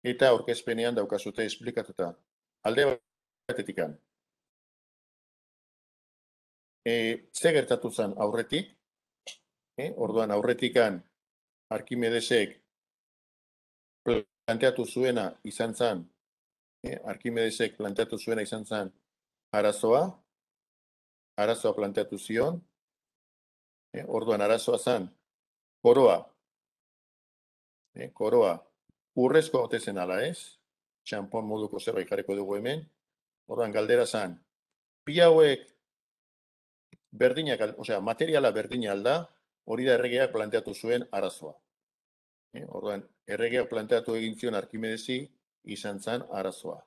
Eta aurkezpenean daukazute esplikatuta. Alde batetikan. Ze gertatu zen aurretik, orduan aurretikan Arkimedesek planteatu zuena izan zen, Arkimedesek planteatu zuena izan zen arazoa planteatu zion, orduan arazoa zen koroa urrezko ote zen ala ez, txampon moduko zerbait jarriko dugu hemen, orduan galdera zen, bi hauek berdinak, osea, materiala berdina alda, hori da erregeak planteatu zuen arazoa. Orduan, erregeak planteatu egin zion Arkimedesi izan zen arazoa.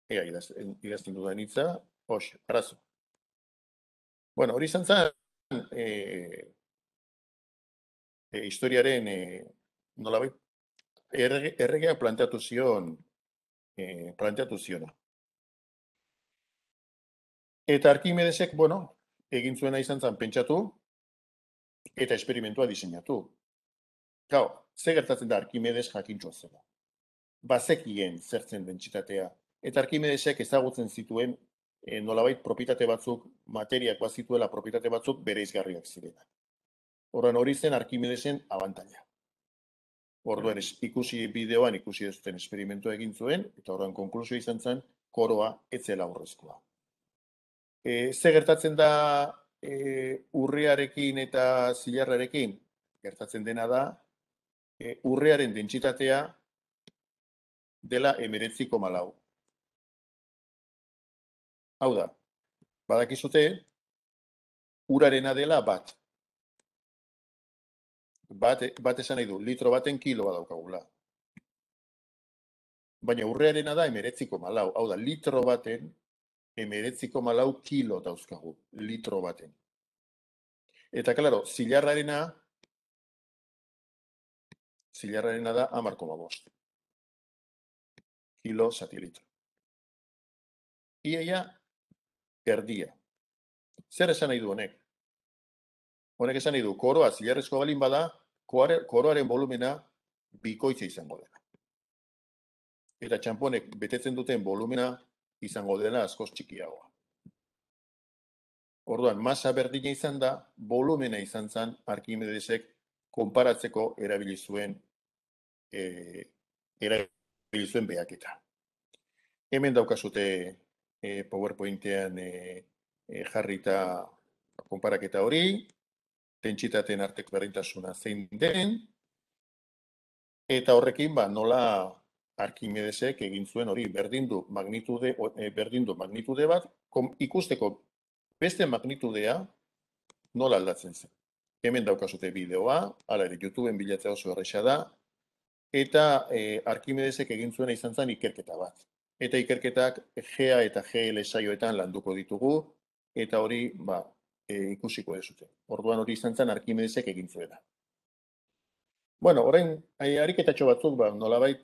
Ea, idazten dudan hitza, arazo. Bueno, hori izan zen, historiaren, nolabait, erregeak planteatu ziona. Eta Arkimedesek, bueno, egin zuena izan zen pentsatu, eta esperimentua diseinatu. Gau, ze gertatzen da Arkimedes jakintxoa zela. Bazekien zertzen dentsitatea. Eta Arkimedesek ezagutzen zituen nolabait propietate batzuk, materiak bazituela propietate batzuk bereizgarriak zirenak. Horren hori zen Arkimedesen abantaila. Orduan bideoan ikusi duzuten esperimentua egin zuen, eta horren konklusio izan zen, koroa etzela urrezkoa. Ze gertatzen da urrearekin eta zilarrarekin? Gertatzen dena da, urrearen dentsitatea dela 19,4. Hau da, badakizute, urarena dela bat. Bat esan nahi du, litro baten kilo badaukagula. Baina urrearena da 19,4. Hau da, litro baten 19,4 kilo dauzkagu, litro baten. Eta, klaro, zilarrarena da 10,5 kilo zati litro. Iaia, erdia. Zer esan nahi du honek? Honek esan nahi du, koroa zilarrezko balin bada, koroaren volumena bikoitza izango dela. Eta txamponek betetzen duten volumena izango dela askoz txikiagoa. Orduan, masa berdina izan da, volumena izan zen Arkimedesek konparatzeko erabili zuen behaketa. Hemen daukazute PowerPointean jarrita konparaketa hori, dentsitateen arteko berdintasuna zein den, eta horrekin nola Arkimedesek egin zuen hori berdindu magnitude bat, ikusteko beste magnitudea nola aldatzen zen. Hemen daukazute bideoa, hala ere YouTubeen bilatzea oso erresa da, eta Arkimedesek egin zuena izan zen ikerketa bat. Eta ikerketak GA eta GL saioetan landuko ditugu, eta hori ikusiko dezute. Orduan hori izan zen Arkimedesek egin zuena. Bueno, orain, ariketatxo batzuk, nolabait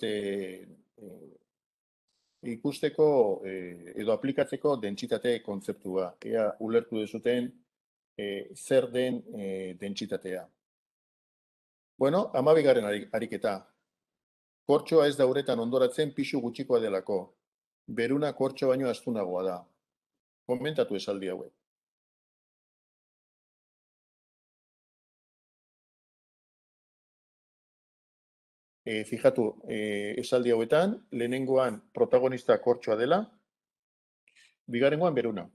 ikusteko edo aplikatzeko dentsitate kontzeptua. Ea ulertu dezuten zer den dentsitatea. Bueno, 12. ariketa. Kortxoa ez da uretan ondoratzen pisu gutxikoa delako. Beruna kortxo baino astunagoa da. Komentatu esaldi hauek. Fijatu, esaldi hauetan, lehenengoan protagonista kortxoa dela, bigarrengoan beruna.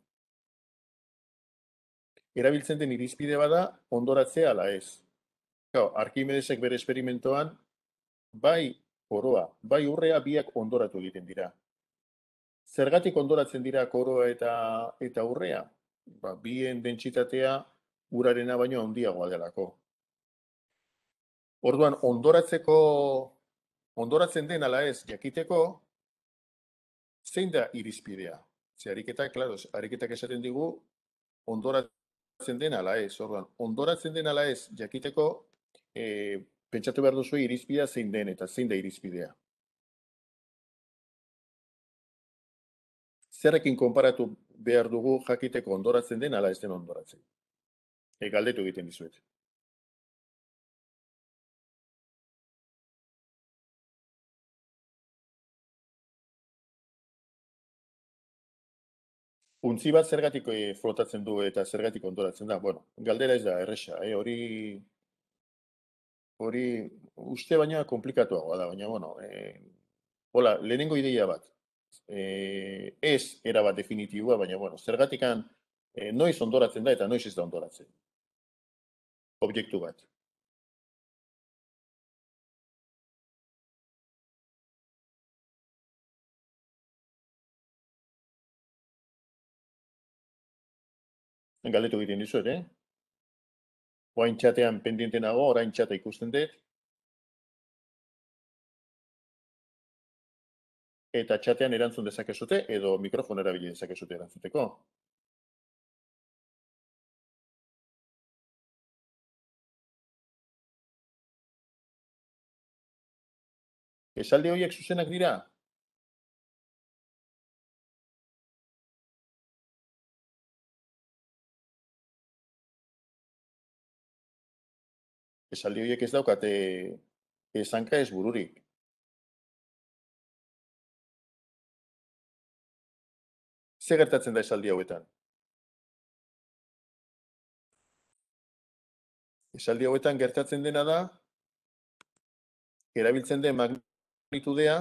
Erabiltzen den irizpide bada ondoratzea ala ez. Arkimedesek bere esperimentoan, bai koroa, bai urrea biak ondoratu egiten dira. Zergatik ondoratzen dira koroa eta urrea? Bien dentsitatea urarena baino handiagoa delako. Orduan, ondoratzen den ala ez jakiteko, zein da irizpidea? Ze ariketak esaten digu, ondoratzen den ala ez. Orduan, ondoratzen den ala ez jakiteko, pentsatu behar duzu irizpidea zein den eta zein da irizpidea. Zerrekin konparatu behar dugu jakiteko ondoratzen den ala ez den ondoratzen? Galdetu egiten dizuet. Untzi bat zergatik flotatzen du eta zergatik ondoratzen da. Bueno, galdera ez da erresa, hori uste baina komplikatuagoa da, baina bueno, hola, lehenengo ideia bat. Ez erabat definitiboa, baina bueno, zergatikan noiz ondoratzen da eta noiz ez da ondoratzen. Objektu bat. Galdetu egiten dizuet, Oain txatean pendiente nago, orain txata ikusten dut, eta txatean erantzun dezakezute, edo mikrofon erabili dezakezute erantzuteko. Esaldi horiek zuzenak dira? Esaldi horiek ez daukate esanka ez bururik. Ze gertatzen da esaldi hauetan? Esaldi hauetan gertatzen dena da, erabiltzen den magnitudea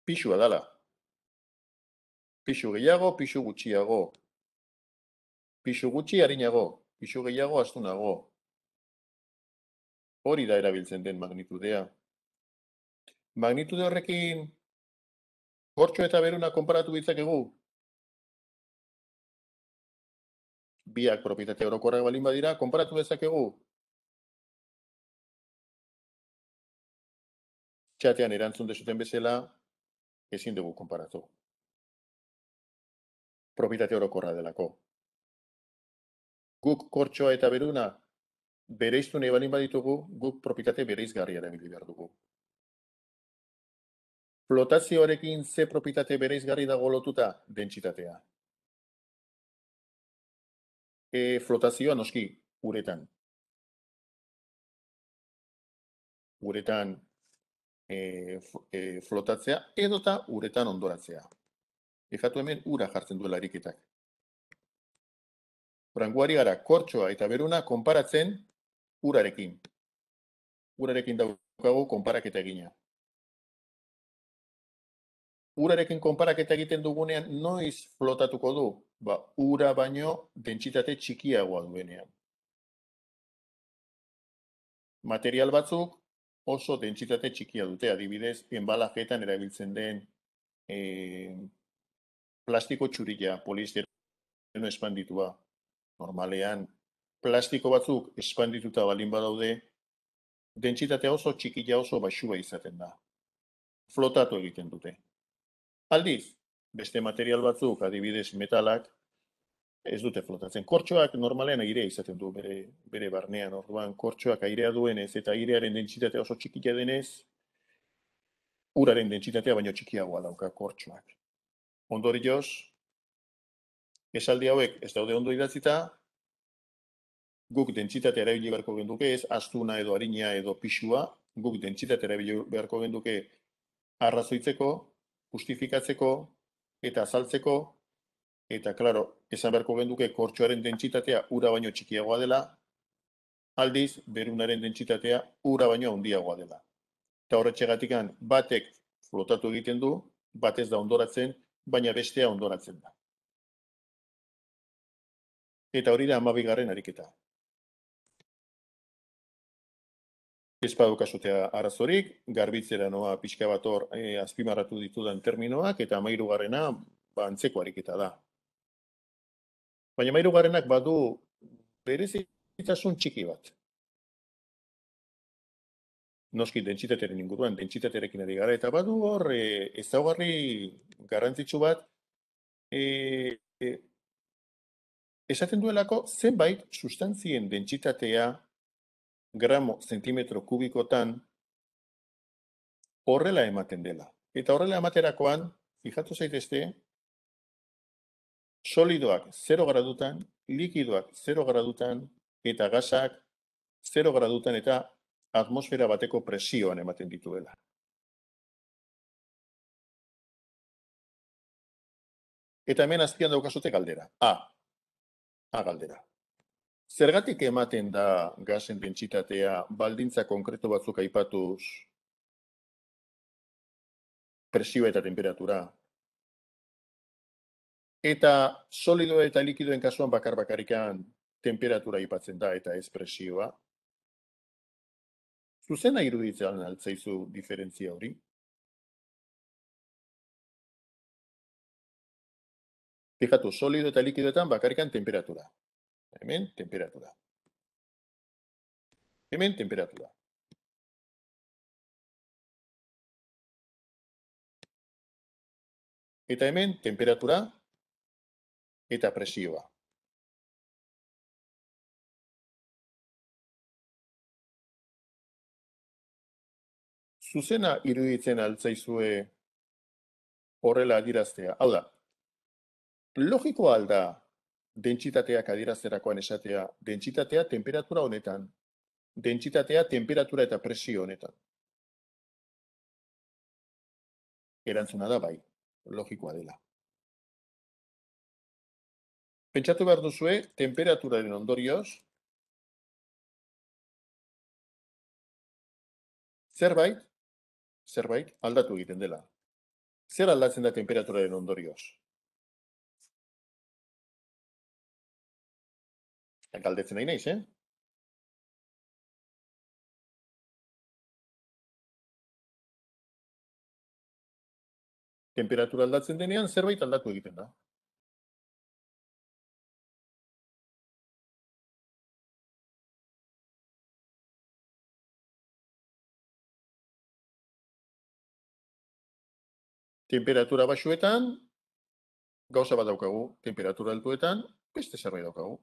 pixua dala. Pixu gehiago, pixu gutxiago. Pixu gutxi harinago, pixu gehiago astunago. Hori da erabiltzen den magnitudea. Magnitude horrekin kortxo eta beruna konparatu ditzakegu. Biak propietate orokorrak balin badira, konparatu dezakegu. Txatean erantzun dezuten bezala, ezin dugu konparatu. Propietate orokorra delako. Guk kortxoa eta beruna bereiztu nahi balin baditugu, guk propietate bereizgarria erabili behar dugu. Flotazioarekin ze propietate bereizgarri dago lotuta? Dentsitatea. Flotazioa noski, uretan. Uretan flotatzea edota uretan ondoratzea. Fijatu hemen ura jartzen duela ariketak. Franguari gara kortxoa eta beruna konparatzen urarekin. Urarekin daukagu konparaketa egina. Urarekin konparaketa egiten dugunean noiz flotatuko du? Ba, ura baino dentsitate txikiagoa duenean. Material batzuk oso dentsitate txikia dute, adibidez, enbalajetan erabiltzen den plastiko txurila, poliestireno espanditua. Normalean, plastiko batzuk espandituta balin badaude, dentsitatea oso txikia oso baxua izaten da. Flotatu egiten dute. Aldiz, beste material batzuk, adibidez metalak, ez dute flotatzen. Kortxoak normalean airea izaten du bere barnean. Orduan, kortxoak airea duenez eta airearen dentsitatea oso txikia denez, uraren dentsitatea baino txikiagoa dauka kortxoak. Ondorioz, esaldi hauek ez daude ondo idatzita, guk dentsitatea erabili beharko genduke, ez astuna edo harina edo pixua, guk dentsitatea erabili beharko genduke arrazoitzeko, justifikatzeko eta azaltzeko, eta, klaro, esan beharko genduke kortxoaren dentsitatea ura baino txikiagoa dela, aldiz, berunaren dentsitatea ura baino handiagoa dela. Eta horretxegatikan batek flotatu egiten du, batez da ondoratzen, baina bestea ondoratzen da. Eta hori da 12. ariketa. Ez badaukazutea arazorik, garbitzera noa pixka bat hor azpimarratu ditudan terminoak, eta 13. Antzeko ariketa da. Baina 13. badu berezitasun txiki bat. Noski dentsitatearen inguruan, dentsitatearekin ari gara, eta badu hor ezaugarri garrantzitsu bat, esaten duelako zenbait sustantzien dentsitatea gramo zentimetro kubikotan horrela ematen dela. Eta horrela ematerakoan, fijatu zaitezte, solidoak 0 gradutan, likidoak 0 gradutan, eta gasak 0 gradutan eta atmosfera bateko presioan ematen dituela. Eta hemen azpian daukazute galdera. A galdera. Zergatik ematen da gasen dentsitatea baldintza konkretu batzuk aipatuz presioa eta temperatura? Eta solido eta likidoen kasuan bakarrikan temperatura aipatzen da eta ez presioa. Zuzena iruditzen altzaizu diferentzia hori? Fijatu, solido eta likidoetan bakarrikan temperatura. Hemen, temperatura. Hemen, temperatura. Eta hemen, temperatura eta presioa. Zuzena iruditzen altzaizue horrela adiraztea. Hau da, logikoa alda dentsitateak adierazterakoan esatea, dentsitatea temperatura honetan, dentsitatea temperatura eta presio honetan. Erantzuna da bai, logikoa dela. Pentsatu behar duzue, temperaturaren ondorioz, zerbait aldatu egiten dela. Zer aldatzen da temperaturaren ondorioz? Galdetzen nahi naiz, Temperatura aldatzen denean, zerbait aldatu egiten da. Temperatura baxuetan, gauza bat daukagu. Temperatura altuetan, beste zerbait daukagu.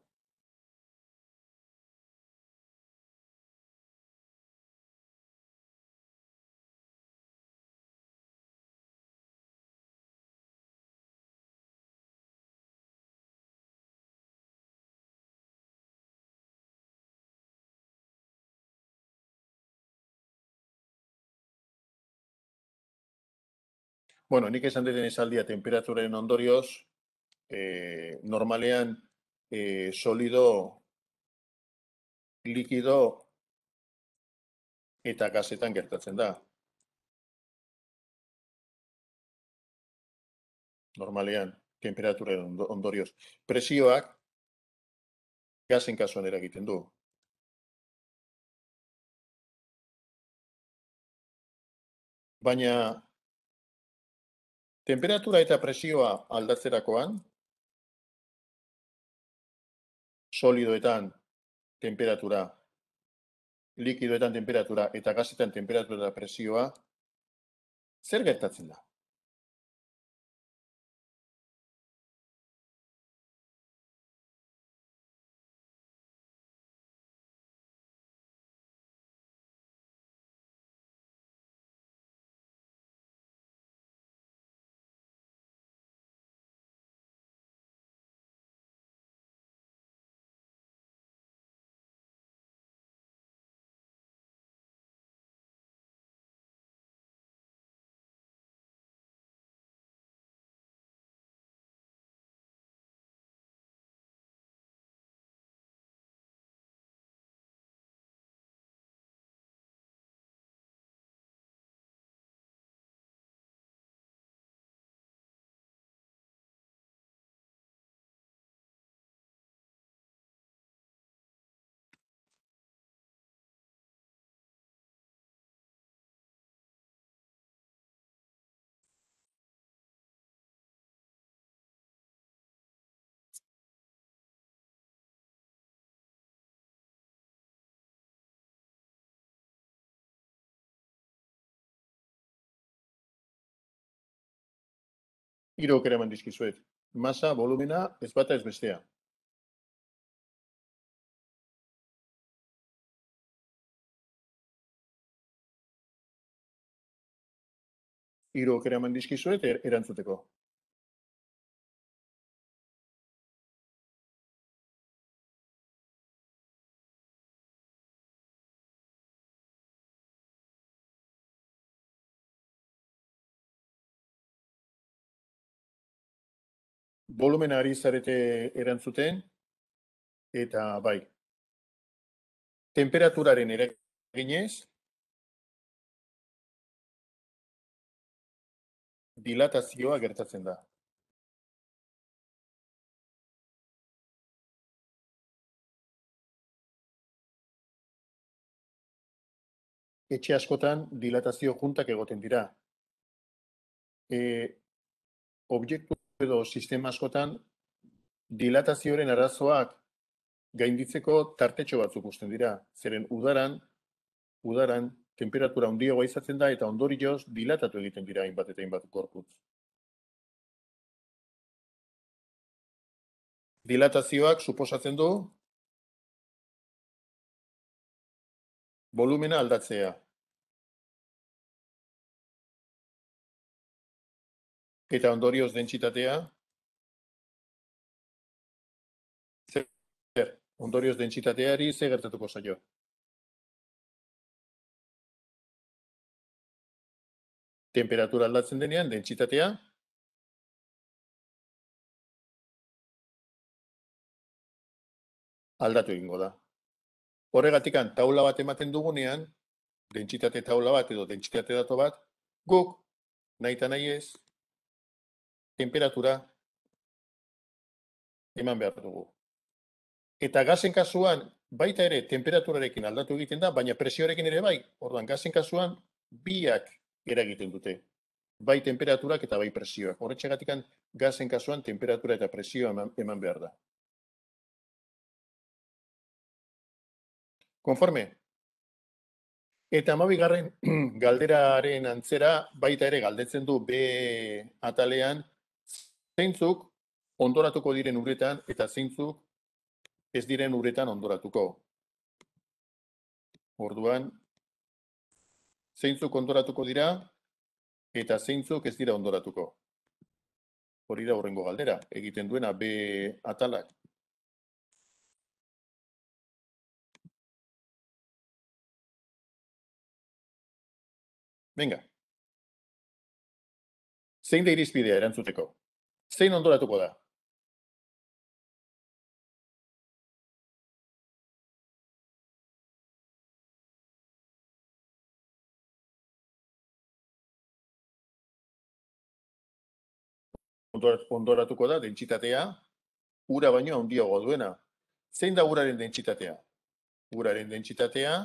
Bueno, nik esan deten esaldia temperaturaren ondorioz, normalean solido, likido eta gazetan gertatzen da. Normalean, temperaturaren ondorioz. Presioak gazen kasuan eragiten du. Baina temperatura eta presioa aldatzerakoan, solidoetan temperatura, likidoetan temperatura eta gazetan temperatura eta presioa, zer gertatzen da? Hiru aukera eman dizkizuet. Masa, volumena, ez bata ez bestea. Hiru aukera eman dizkizuet erantzuteko. volumena ari zarete erantzuten, eta bai, temperaturaren eraginez, dilatazioa gertatzen da. Etxe askotan dilatazio juntak egoten dira. Objektu edo sistema askotan dilatazioaren arazoak gainditzeko tartetxo batzuk uzten dira. Zeren udaran temperatura handiagoa izaten da eta ondorioz dilatatu egiten dira hainbat eta hainbat gorputz. Dilatazioak suposatzen du volumena aldatzea. Eta ondorioz dentsitatea, ondorioz dentsitateari ze gertatuko zaio. Temperatura aldatzen denean, dentsitatea aldatu egingo da. Horregatikan taula bat ematen dugunean, dentsitate taula bat edo dentsitate dato bat, guk nahi eta nahi ez, temperatura eman behar dugu. Eta gazen kasuan, baita ere, temperaturarekin aldatu egiten da, baina presioarekin ere bai. Orduan, gazen kasuan, biak eragiten dute. Bai temperaturak eta bai presioak. Horretxegatikan, gazen kasuan, temperatura eta presioa eman behar da. Konforme? Eta 12. galderaren antzera, baita ere galdetzen du B atalean, zeintzuk ondoratuko diren uretan eta zeintzuk ez diren uretan ondoratuko. Orduan, zeintzuk ondoratuko dira eta zeintzuk ez dira ondoratuko. Hori da horrengo galdera, egiten duena B atalak. Venga. Zein da irizpidea erantzuteko? Zein ondoratuko da? Ondoratuko da dentsitatea ura baino handiagoa duena. Zein da uraren dentsitatea? Uraren dentsitatea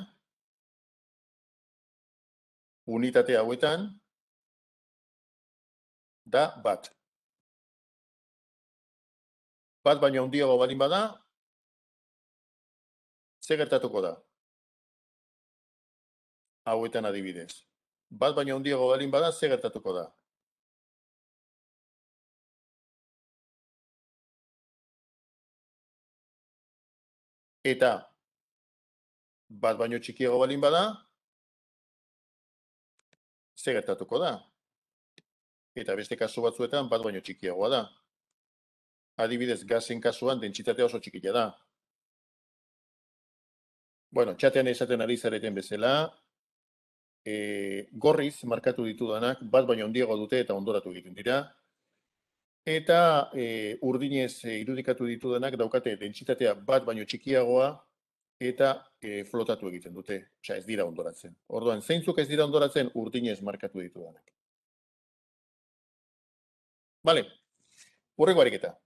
unitate hauetan da bat. Bat baino handiago baldin bada, ze gertatuko da? Hauetan adibidez. Bat baino handiago baldin bada, ze gertatuko da? Eta bat baino txikiago baldin bada, ze gertatuko da? Eta beste kasu batzuetan bat baino txikiagoa da. Adibidez, gazen kasuan dentsitatea oso txikia da. Bueno, txatean esaten ari zareten bezala, gorriz markatu ditudanak bat baino handiago dute eta ondoratu egiten dira. Eta urdinez irudikatu ditudanak daukate dentsitatea bat baino txikiagoa eta flotatu egiten dute. Osea, ez dira ondoratzen. Orduan, zeintzuk ez dira ondoratzen urdinez markatu ditudanak. Bale, hurrengo ariketa.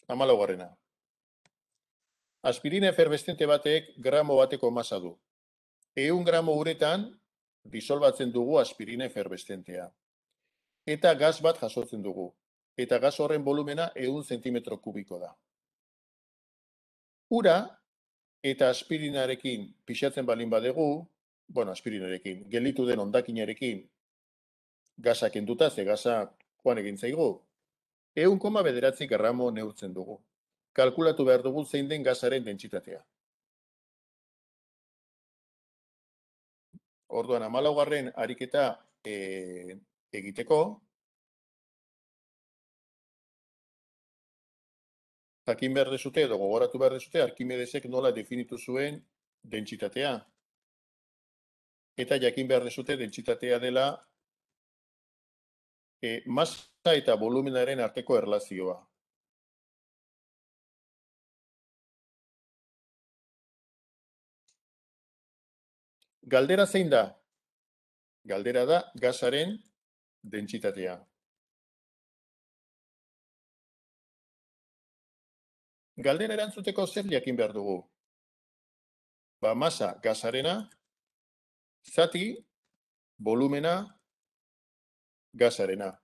14. Aspirina eferbestente batek gramo bateko masa du. 100 gramo uretan disolbatzen dugu aspirina eferbestentea. Eta gas bat jasotzen dugu. Eta gas horren volumena 100 zentimetro kubiko da. Ura eta aspirinarekin pixatzen balin badegu, bueno, aspirinarekin, gelditu den hondakinarekin gasak enduta, ze gasak joan egin zaigu, 100,9 gramo neurtzen dugu. Kalkulatu behar dugu zein den gasaren dentsitatea. Orduan, 14. ariketa egiteko, jakin behar dezute edo gogoratu behar dezute Arkimedesek nola definitu zuen dentsitatea. Eta jakin behar dezute dentsitatea dela masa eta volumenaren arteko erlazioa. Galdera zein da? Galdera da gasaren dentsitatea. Galdera erantzuteko zer jakin behar dugu? Ba, masa gasarena, zati, volumena, gasarena.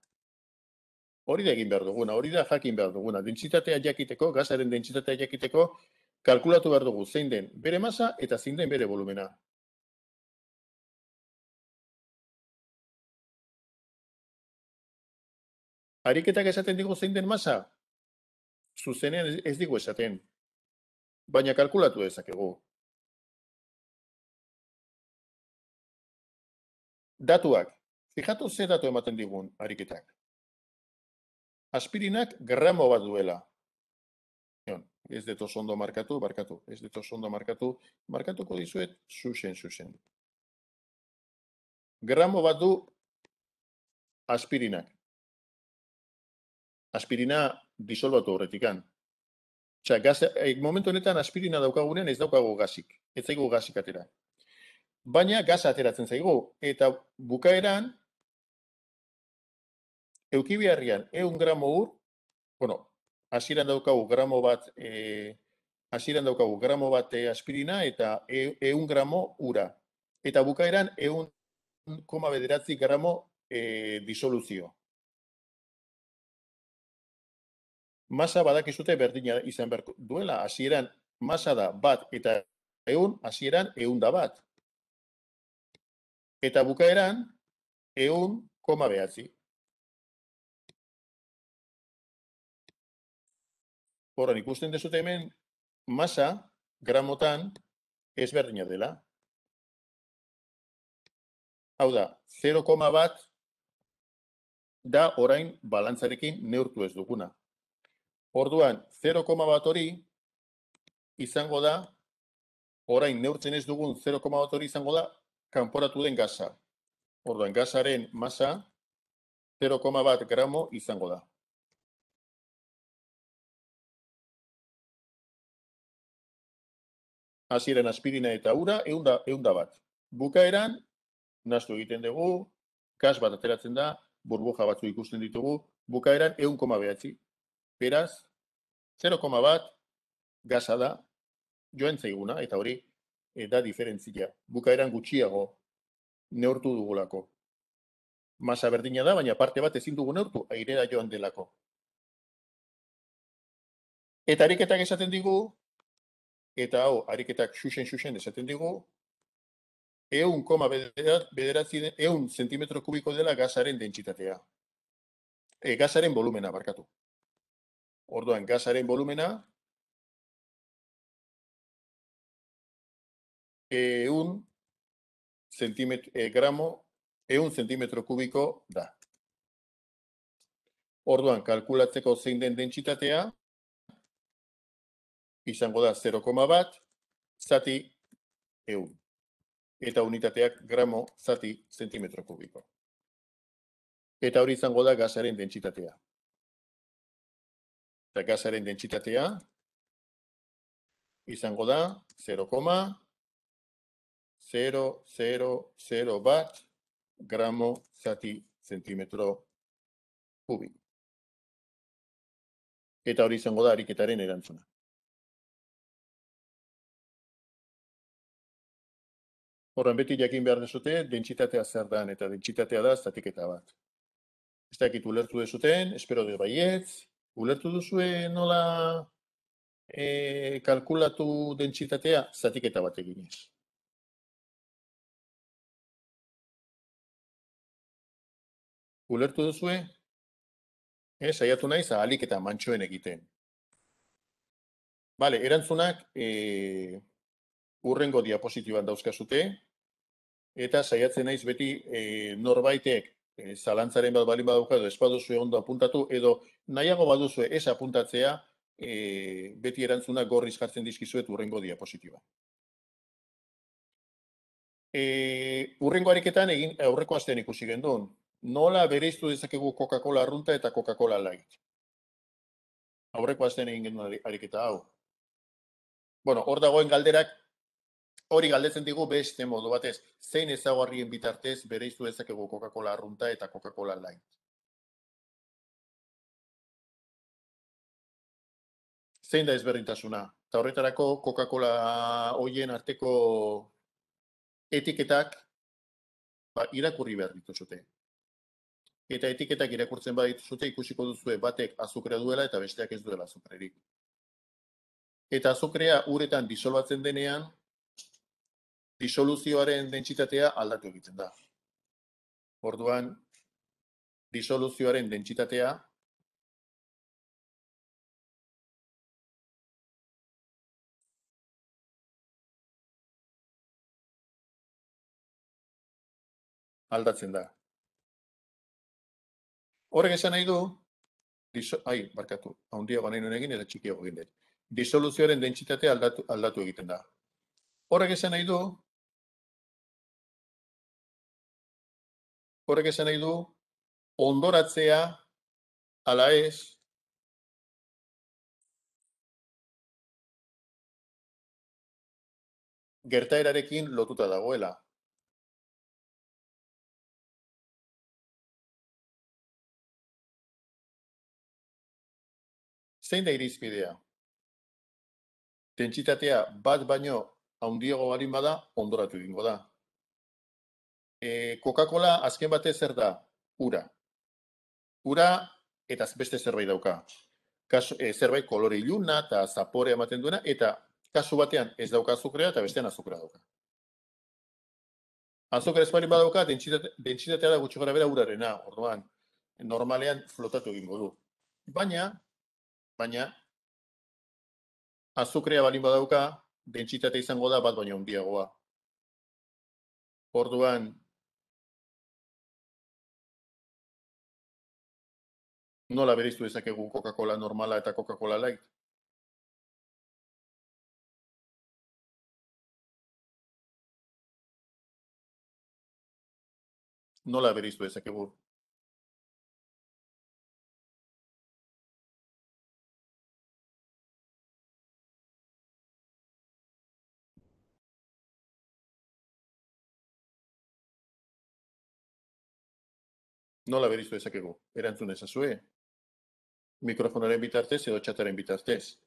Hori da egin behar duguna, hori da jakin behar duguna. Dentsitatea jakiteko, gasaren dentsitatea jakiteko, kalkulatu behar dugu zein den bere masa eta zein den bere volumena. Ariketak esaten digu zein den masa? Zuzenean ez digu esaten, baina kalkulatu dezakegu. Datuak. Fijatu ze datu ematen digun ariketak. Aspirinak gramo bat duela. Ez dut oso ondo markatu, ez dut oso ondo markatuko dizuet, zuzen. Gramo bat du aspirinak. Aspirina disolbatu horretikan. Momentu honetan aspirina daukagunean ez daukagu gazik. Ez zaigu gazik atera. Baina gaza ateratzen zaigu. Eta bukaeran, eukibiarrian 100 gramo ur, hasieran daukagu gramo bat aspirina eta 100 gramo ura. Eta bukaeran 1,9 gramo disoluzio. Masa badakizute berdina izan behar duela. Hasieran masa da bat eta 100, hasieran 100 da bat. Eta bukaeran 1,9. Horren ikusten dezute hemen, masa gramotan ezberdina dela. Hau da, 0,1 da orain balantzarekin neurtu ez duguna. Orduan, 0,1 hori izango da, orain neurtzen ez dugun 0,1 hori izango da, kanporatu den gaza. Orduan, gazaren masa 0,1 gramo izango da. Hasieran aspirina eta ura 100 bat. Bukaeran, nahastu egiten dugu, gas bat ateratzen da, burbuja batzu ikusten ditugu, bukaeran 1,9. Beraz, 0,1 gaza da, joan zaiguna, eta hori da diferentzia. Bukaeran gutxiago neurtu dugulako. Masa berdina da, baina parte bat ezin dugu neurtu, airera joan delako. Eta ariketak esaten digu, eta hau, ariketak xuxen esaten digu, 100 zentimetro kubiko dela gazaren dentsitatea. Gazaren volumena, barkatu. Orduan, gazaren volumena 100 zentimetro kubiko da. Orduan, kalkulatzeko zein den dentsitatea, izango da 0,1 zati 100. Eta unitateak gramo zati zentimetro kubiko. Eta hori izango da gazaren dentsitatea. Eta gazaren dentsitatea izango da 0,000 bat gramo zati zentimetro kubiko. Eta hori izango da ariketaren erantzuna. Horren beti jakin behar dezute, dentsitatea zer dan, eta dentsitatea da zatiketa bat. Ez dakit ulertu dezuten, espero dut baietz, ulertu duzue nola kalkulatu dentsitatea zatiketa bat eginez. Ulertu duzue? Saiatu naiz ahalik eta mantsoen egiten. Bale, erantzunak urrengo diapositiban dauzkazute, eta saiatzen naiz beti norbaitek zalantzaren bat balin badauka edo ez baduzue ondo apuntatu, edo nahiago baduzue ez apuntatzea, beti erantzunak gorriz jartzen dizkizuet urrengo diapositiba. Urrengo ariketan aurreko astean ikusi gendun, Nola bereiztu dezakegu Coca-Cola arrunta eta Coca-Cola light? Aurreko astean egin genuen ariketa hau. Bueno, hor dagoen galderak, hori galdetzen digu beste modu batez. Zein ezaugarrien bitartez bereiztu dezakegu Coca-Cola arrunta eta Coca-Cola light? Zein da ezberdintasuna? Eta horretarako Coca-Cola hoien arteko etiketak irakurri behar dituzute. Eta etiketak irakurtzen badituzute ikusiko duzue batek azukrea duela eta besteak ez duela azukrerik. Eta azukrea uretan disolbatzen denean, disoluzioaren dentsitatea aldatu egiten da. Orduan, disoluzioaren dentsitatea aldatzen da. Horrek esan nahi du, handiago nahi nuen egin eta txikiago egin dut. Disoluzioaren dentsitatea aldatu egiten da. Horrek esan nahi du, ondoratzea, ala ez, gertaerarekin lotuta dagoela. Zein da irizpidea? Dentsitatea bat baino handiago balin bada, ondoratu egingo da. Coca-Cola azken batez zer da? Ura. Ura eta beste zerbait dauka. Zerbait kolore iluna eta zapore ematen duena, eta kasu batean ez dauka azukrea eta bestean azukrea dauka. Azukrea ez balin badauka, dentsitatea da gutxi gorabehera urarena, orduan, normalean flotatu egingo du. Baina, azukrea balin badauka, dentsitatea izango da bat baino handiagoa. Orduan, nola bereiztu dezakegu Coca-Cola normala eta Coca-Cola light? Nola bereiztu dezakegu? Nola bereiztu dezakegu? Erantzun ezazue. Mikrofonoaren bitartez edo txataren bitartez.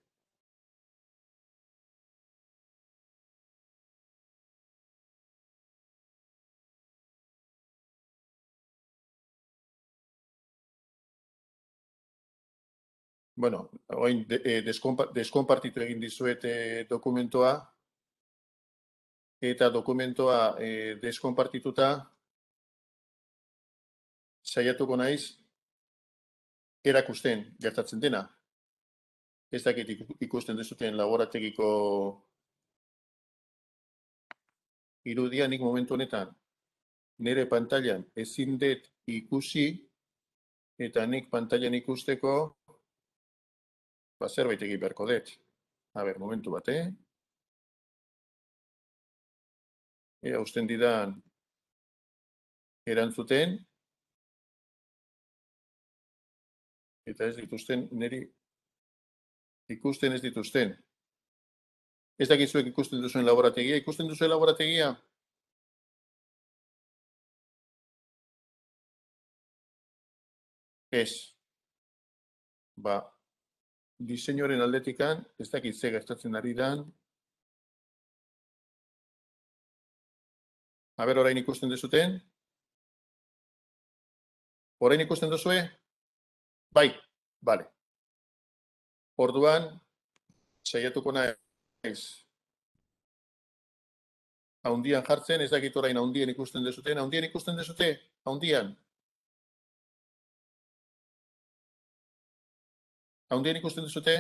Bueno, orain deskonpartitu egin dizuet dokumentoa, eta dokumentoa deskonpartituta saiatuko naiz erakusten gertatzen dena. Ez dakit ikusten duzuten laborategiko irudia, nik momentu honetan nire pantailan ezin dut ikusi, eta nik pantailan ikusteko zerbait egin beharko dut. A ber, momentu bat, Ea usten didan erantzuten, eta ez dituzten, niri ikusten ez dituzten. Ez dakizuek ikusten duzuen laborategia. Ikusten duzuen laborategia? Ez. Diseinuaren aldetikan, ez dakit ze gertatzen ari dan. A ber, orain ikusten duzuten? Orain ikusten duzue? Bai, bale. Orduan, saiatuko naiz haundian jartzen, ez dakit orain haundien ikusten duzuten. Haundien ikusten duzute? Haundian. Haundien ikusten duzute?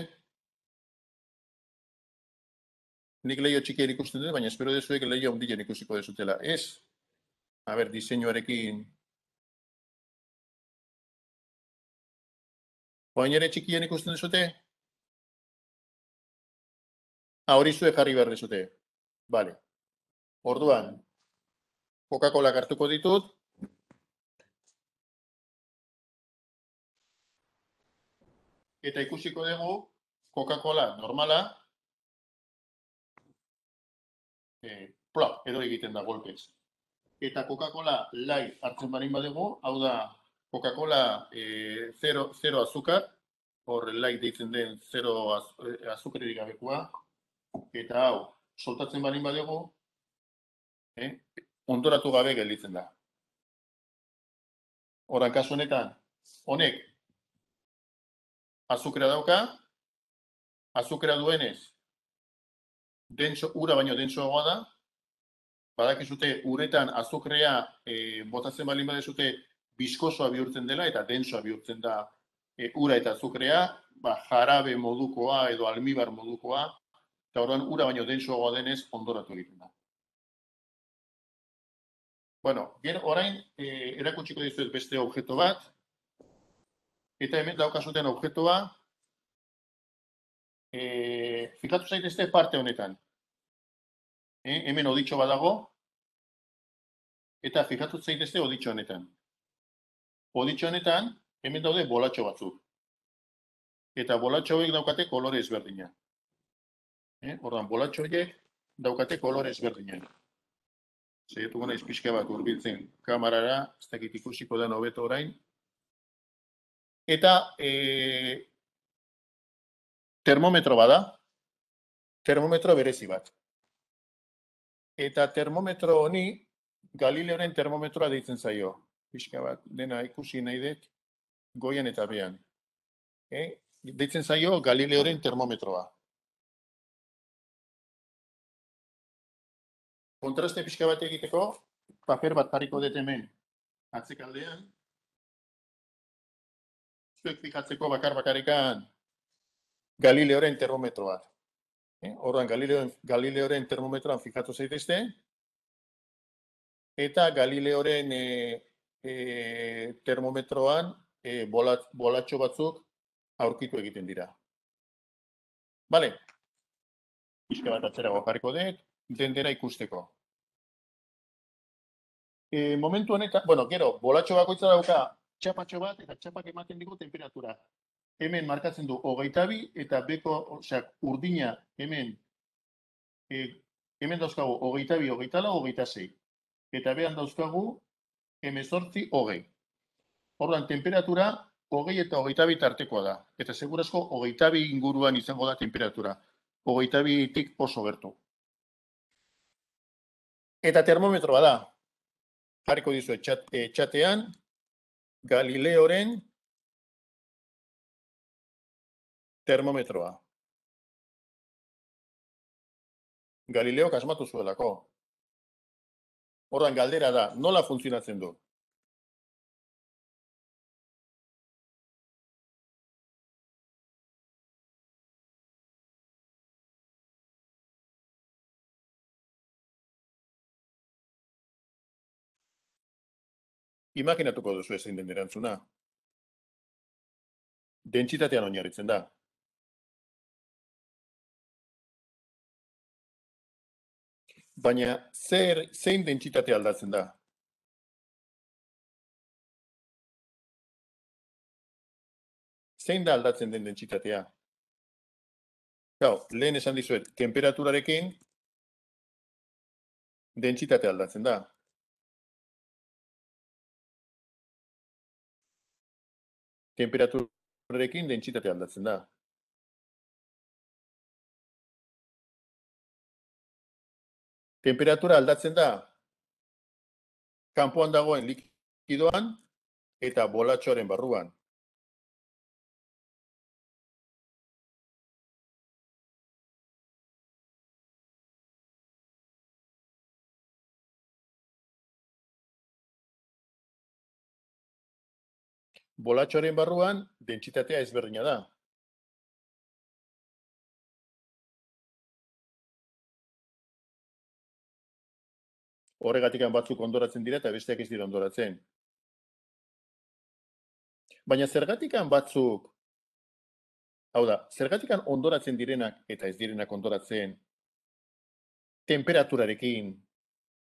Nik leio txikien ikusten dut, baina espero dezuek leio haundien ikusiko dezutela. Ez? A ber, diseinuarekin. Oain ere txikien ikusten duzute? Hori zuek jarri behar dezute. Bale. Orduan, Coca-Cola hartuko ditut, eta ikusiko dugu Coca-Cola normala edo egiten da golpez. Eta Coca-Cola light hartzen barin badugu, hau da Coca-Cola zero azúcar, hor light deitzen den zero azukrerik gabekoa, eta hau, soltatzen barin badugu, ondoratu gabe gelditzen da. Horan kasu honetan, honek azukrea dauka, azukrea duenez, ura baino dentsoagoa da, badakizute uretan azukrea botatzen balin badezute biskosoa bihurtzen dela eta dentsoa bihurtzen da ura eta azukrea, jarabe modukoa edo almibar modukoa, eta orduan ura baino dentsoagoa denez ondoratu egiten da. Bueno, orain erakutsiko dizuet beste objektu bat, eta hemen daukazuten objektua, fikatu zaitezte parte honetan. Hemen oditxo badago, eta fikatu zaitezte oditxo honetan. Oditxo honetan, hemen daude bolatxo batzuk. Eta bolatxo horiek daukate kolore ezberdina. Ordan, bolatxo horiek daukate kolore ezberdina. Zaituko naiz pixka bat hurbiltzen kamarara, ez dakit ikusiko den hobeto orain. Eta termometro bada, termometro berezi bat. Eta termometro honi Galileoren termometroa deitzen zaio. Pixka bat, dena ikusi nahi dut, goian eta behan. Deitzen zaio Galileoren termometroa. Kontraste pixka bat egiteko, paper bat jarriko dut hemen atzekaldean. Zuek fikatzeko bakar-bakarrekan Galileoren termometroa. Orduan, Galileoren termometroan fikatu zaitezte, eta Galileoren termometroan bolatxo batzuk aurkitu egiten dira. Bale, pixka bat atzerago jarriko dut, dendera ikusteko. Momentu honetan, gero, bolatxo bakoitza dauka txapatxo bat, eta txapak ematen digu temperatura. Hemen markatzen du 22 eta beko, urdina hemen dauzkagu 22, 24, 26. Eta behan dauzkagu 18, 20. Orduan, temperatura 20 eta 22 tartekoa da. Eta segurazko 22 inguruan izango da temperatura. 22tik oso gertu. Eta termometroa da. Jarriko dizu txatean, Galileoren termometroa. Galileok asmatu zuelako. Orduan, galdera da, nola funtzionatzen du? Imaginatuko duzu ezin den erantzuna. Dentsitatean oinarritzen da. Baina, zein dentsitate aldatzen da? Zein da aldatzen den dentsitatea? Lehen esan dizuet, temperaturarekin dentsitate aldatzen da. Temperaturarekin dentsitate aldatzen da. Temperatura aldatzen da kanpoan dagoen likidoan eta bolatxoaren barruan. Bolatxoaren barruan dentsitatea ezberdina da. Horregatik batzuk ondoratzen dira eta besteak ez dira ondoratzen. Baina zergatik batzuk, hau da, zergatik ondoratzen direnak eta ez direnak ondoratzen temperaturarekin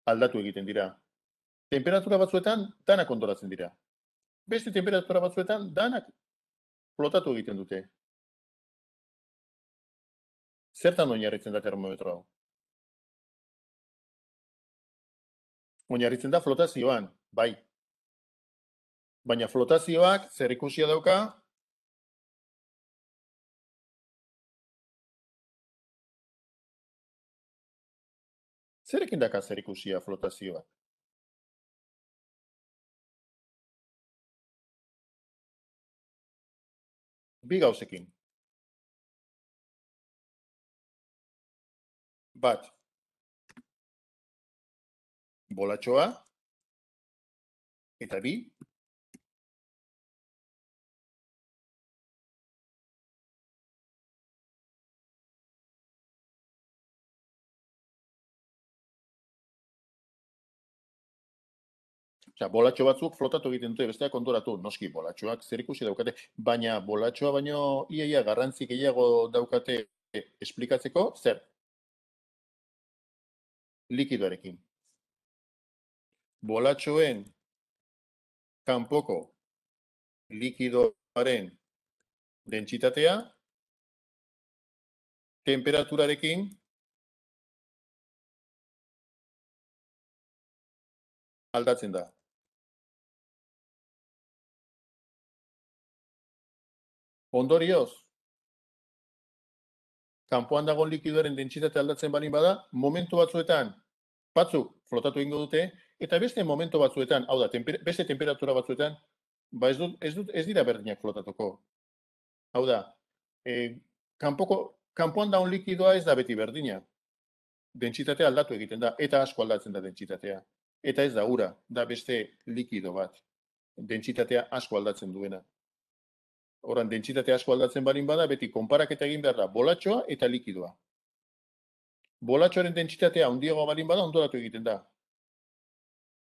aldatu egiten dira. Temperatura batzuetan danak ondoratzen dira. Beste temperatura batzuetan danak flotatu egiten dute. Zertan oinarritzen da termometro hau? Oinarritzen da flotazioan, bai. Baina flotazioak zer ikusia dauka? Zerekin daka zer ikusia flotazioak? Bi gauzekin. Bat, bolatxoa, eta bi, bolatxo batzuk flotatu egiten dute, besteak konturatu, noski bolatxoak zer ikusi daukate, baina bolatxoa baino iaia garrantzi gehiago daukate esplikatzeko, zer? Likidoarekin. Bolatxoen kanpoko likidoaren dentsitatea, temperaturarekin aldatzen da. Ondorioz, kanpoan dagoen likidoaren dentsitatea aldatzen baldin bada, momentu batzuetan batzuk flotatu egingo dute, eta beste momentu batzuetan, hau da, beste temperatura batzuetan, ez dira berdinak flotatuko. Hau da, kanpoan dagoen likidoa ez da beti berdina. Dentsitatea aldatu egiten da, eta asko aldatzen da dentsitatea. Eta ez da ura, da beste likido bat. Dentsitatea asko aldatzen duena. Horan, dentsitatea asko aldatzen barin bada, beti konparaketa egin behar da, bolatxoa eta likidoa. Bolatxoaren dentsitatea handiagoa barin bada, ondoratu egiten da.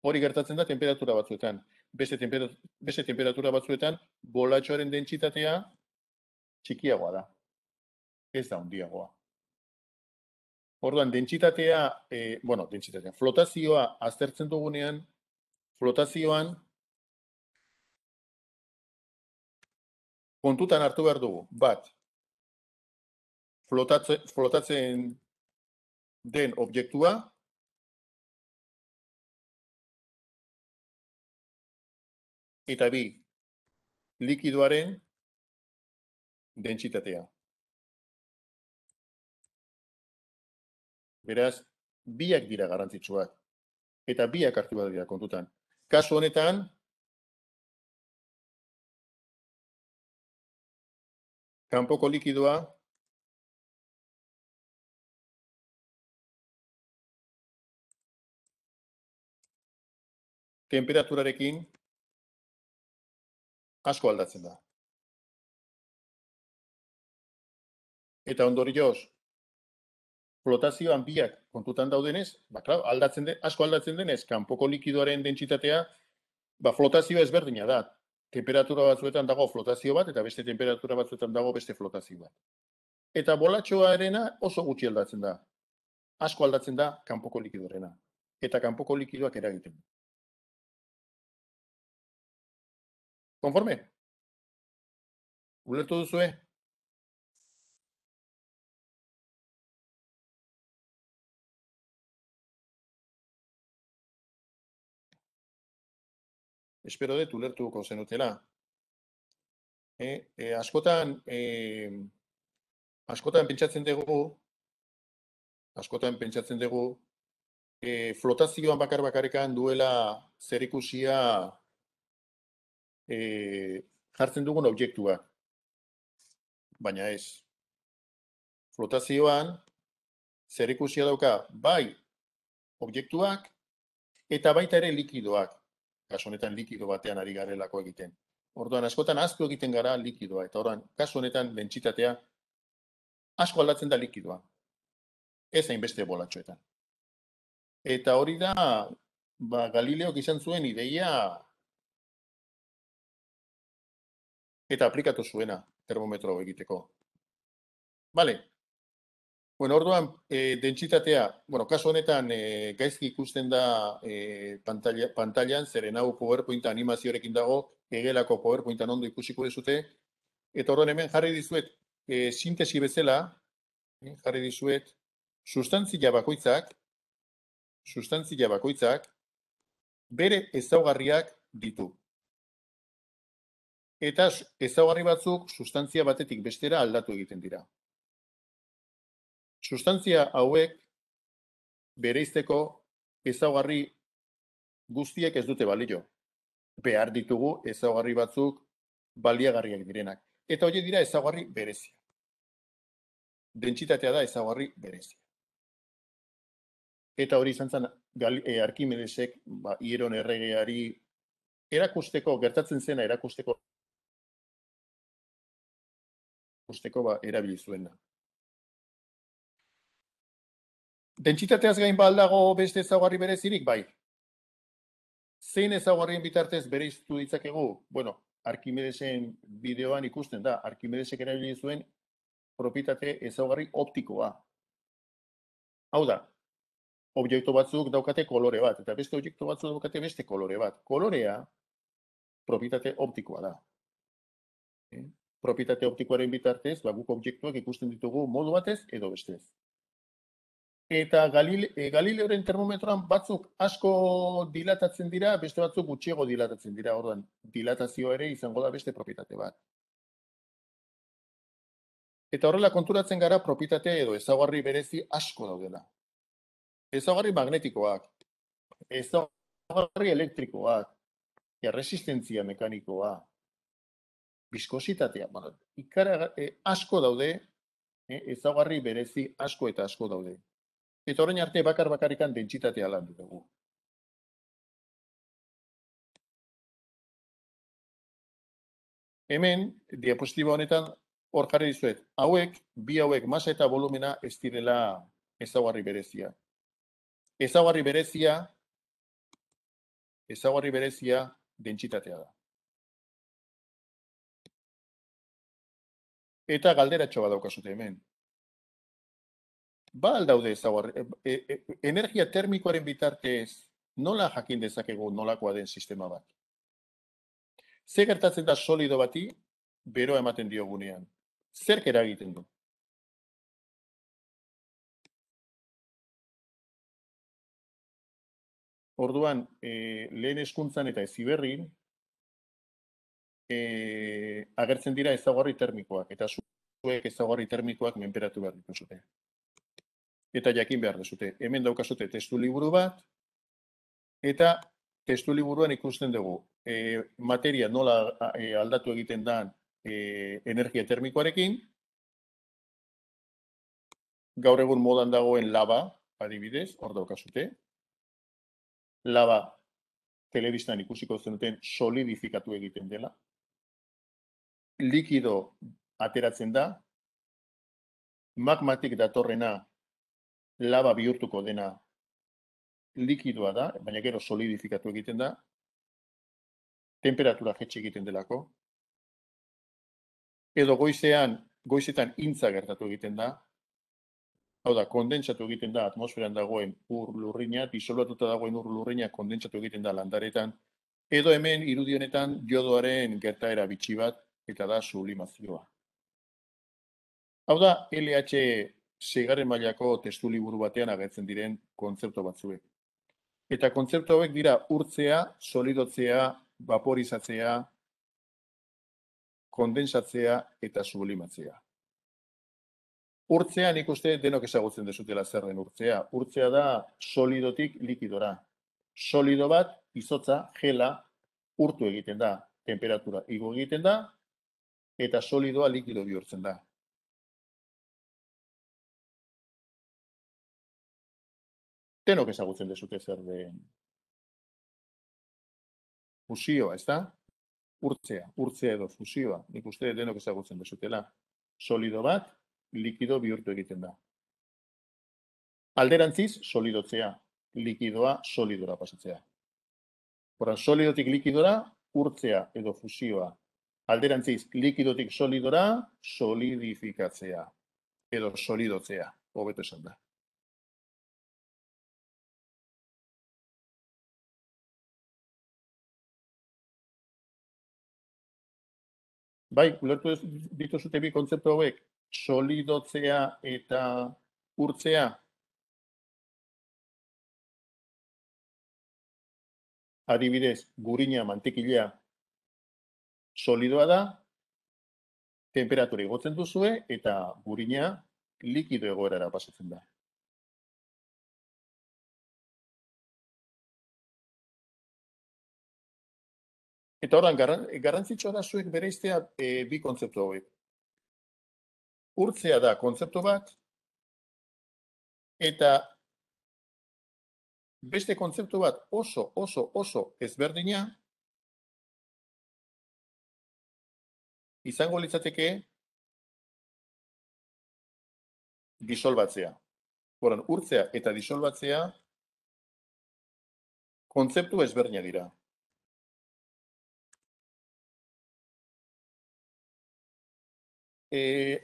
Hori gertatzen da temperatura batzuetan. Beste temperatura batzuetan, bolatxoaren dentsitatea txikiagoa da. Ez da handiagoa. Orduan, flotazioa aztertzen dugunean, flotazioan kontutan hartu behar dugu. Bat, flotatzen den objektua, eta bi, likidoaren dentsitatea. Beraz, biak dira garrantzitsuak. Eta biak hartu behar dira kontutan. Kasu honetan, kanpoko likidoa temperaturarekin asko aldatzen da. Eta ondorioz, flotazioan biak kontutan daudenez, asko aldatzen denez, kanpoko likidoaren dentsitatea, flotazioa ezberdina da. Temperatura batzuetan dago flotazio bat, eta beste temperatura batzuetan dago beste flotazio bat. Eta bolatxoarena oso gutxi aldatzen da. Asko aldatzen da kanpoko likidoarena. Eta kanpoko likidoak eragiten. Konforme? Ulertu duzue? Espero dut ulertuko zenutela. Askotan pentsatzen dugu, flotazioan bakarrekan duela zerikusia jartzen dugun objektua. Baina ez. Flotazioan zerikusia dauka bai objektuak eta baita ere likidoak. Kasu honetan likido batean ari garelako egiten. Orduan, askotan ahaztu egiten gara likidoa. Eta orduan, kasu honetan dentsitatea asko aldatzen da likidoa. Ez hainbeste bolatxoetan. Eta hori da, Galileok izan zuen ideia eta aplikatu zuena termometro egiteko. Bale. Bueno, orduan, dentsitatea, kasu honetan gaizki ikusten da pantailan, zeren hau PowerPoint animazioarekin dago, egelako PowerPointan ondo ikusiko dezute, Eta horren hemen jarri dizuet, sintesi bezala, jarri dizuet, sustantzia bakoitzak bere ezaugarriak ditu. Eta ezaugarri batzuk sustantzia batetik bestera aldatu egiten dira. Sustantzia hauek bereizteko ezaugarri guztiek ez dute balio. Behar ditugu ezaugarri batzuk baliagarriak direnak. Eta horiek dira ezaugarri berezia. Dentsitatea da ezaugarri berezia. Eta hori izan zen Arkimedesek Hieron erregeari erakusteko, gertatzen zena erakusteko erabili zuena. Dentsitateaz gain baldago beste ezaugarri berezirik, bai. Zein ezaugarrien bitartez bereiztu ditzakegu? Bueno, Arkimedesen bideoan ikusten da, Arkimedesek erabili zuen propietate ezaugarri optikoa. Hau da, objektu batzuk daukate kolore bat, eta beste objektu batzuk daukate beste kolore bat. Kolorea propietate optikoa da. Propietate optikoaren bitartez, guk objektuak ikusten ditugu modu batez edo bestez. Eta Galileoren termometroan batzuk asko dilatatzen dira, beste batzuk gutxiago dilatatzen dira. Orduan, dilatazioa ere izango da beste propietate bat. Eta horrela konturatzen gara propietate edo ezaugarri berezi asko daudela. Ezaugarri magnetikoak, ezaugarri elektrikoak, erresistentzia mekanikoa, biskositatea, asko daude, ezaugarri berezi asko eta asko daude. Eta orain arte bakarrikan dentsitatea landu dugu. Hemen, diapositiba honetan, hor jarri dizuet, bi hauek, masa eta volumena ez direla ezaugarri berezia. Ezaugarri berezia dentsitatea da. Eta galderatxo bat daukazute hemen. Ba aldaude ezaugarri, energia termikoaren bitartez nola jakin dezakegu nolakoa den sistema bat? Ze gertatzen da solido bati beroa ematen diogunean? Zerk eragiten du? Orduan, lehen hezkuntzan eta Heziberrin agertzen dira ezaugarri termikoak, eta zuek ezaugarri termikoak menperatu behar dituzute. Eta jakin behar duzute. Hemen daukazute testu liburu bat, eta testu liburuan ikusten dugu materia nola aldatu egiten da energia termikoarekin, gaur egun modan dagoen lava, adibidez, hor daukazute. Lava telebistan ikusiko zenuten solidifikatu egiten dela. Likido ateratzen da, magmatik datorrena lava bihurtuko dena likidoa da, baina gero solidifikatu egiten da, temperatura jetxe egiten delako, edo goizetan intza gertatu egiten da, hau da, kondentsatu egiten da atmosferan dagoen ur lurrina, disolbatuta dagoen ur lurrina kondentsatu egiten da landaretan, edo hemen irudi honetan jodoaren gertaera bitxi bat, eta da sublimazioa. Hau da, LH seigarren mailako testu liburu batean agertzen diren kontzeptu batzuek. Eta kontzeptu hauek dira urtzea, solidotzea, vaporizatzea, kondensatzea eta sublimatzea. Urtzea nik uste denok ezagutzen dezutela zer den urtzea. Urtzea da solidotik likidora. Solido bat, izotza, gela, urtu egiten da, temperatura igo egiten da, eta solidoa likido bihurtzen da. Denok ezagutzen dezute zer den fusioa, ez da? Urtzea edo fusioa, nik uste denok ezagutzen dezutela. Solido bat, likido bihurtu egiten da. Alderantziz, solidotzea, likidoa solidora pasatzea. Horan, solidotik likidora, urtzea edo fusioa. Alderantziz, likidotik solidora, solidifikatzea edo solidotzea, hobeto esan da. Bai, ulertu dituzute bi kontzeptu hauek, solidotzea eta urtzea. Adibidez, gurina, mantekilea, solidoa da, temperatura igotzen duzue, eta gurina likido egoerara pasatzen da. Eta horren, garrantzitsua da zuek bereiztea bi kontzeptu hauek. Urtzea da kontzeptu bat, eta beste kontzeptu bat oso ezberdina izango litzateke disolbatzea. Horan, urtzea eta disolbatzea kontzeptu ezberdinak dira.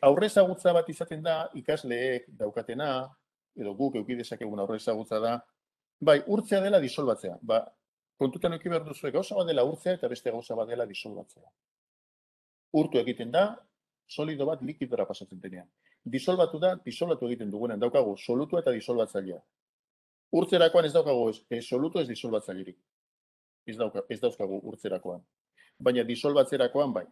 Aurre ezagutza bat izaten da ikasleek daukatena, edo guk eduki dezakegun aurre ezagutza da, bai, urtzea dela disolbatzea. Ba, kontutan eduki behar duzu gauza bat dela urtzea eta beste gauza bat dela disolbatzea. Urtu egiten da, solido bat likidora pasatzen denean. Disolbatu da, disolbatu egiten dugunean daukagu solutua eta disolbatzailea. Urtzerakoan ez daukagu solutu ez disolbatzailerik. Ez dauzkagu urtzerakoan. Baina disolbatzerakoan bai.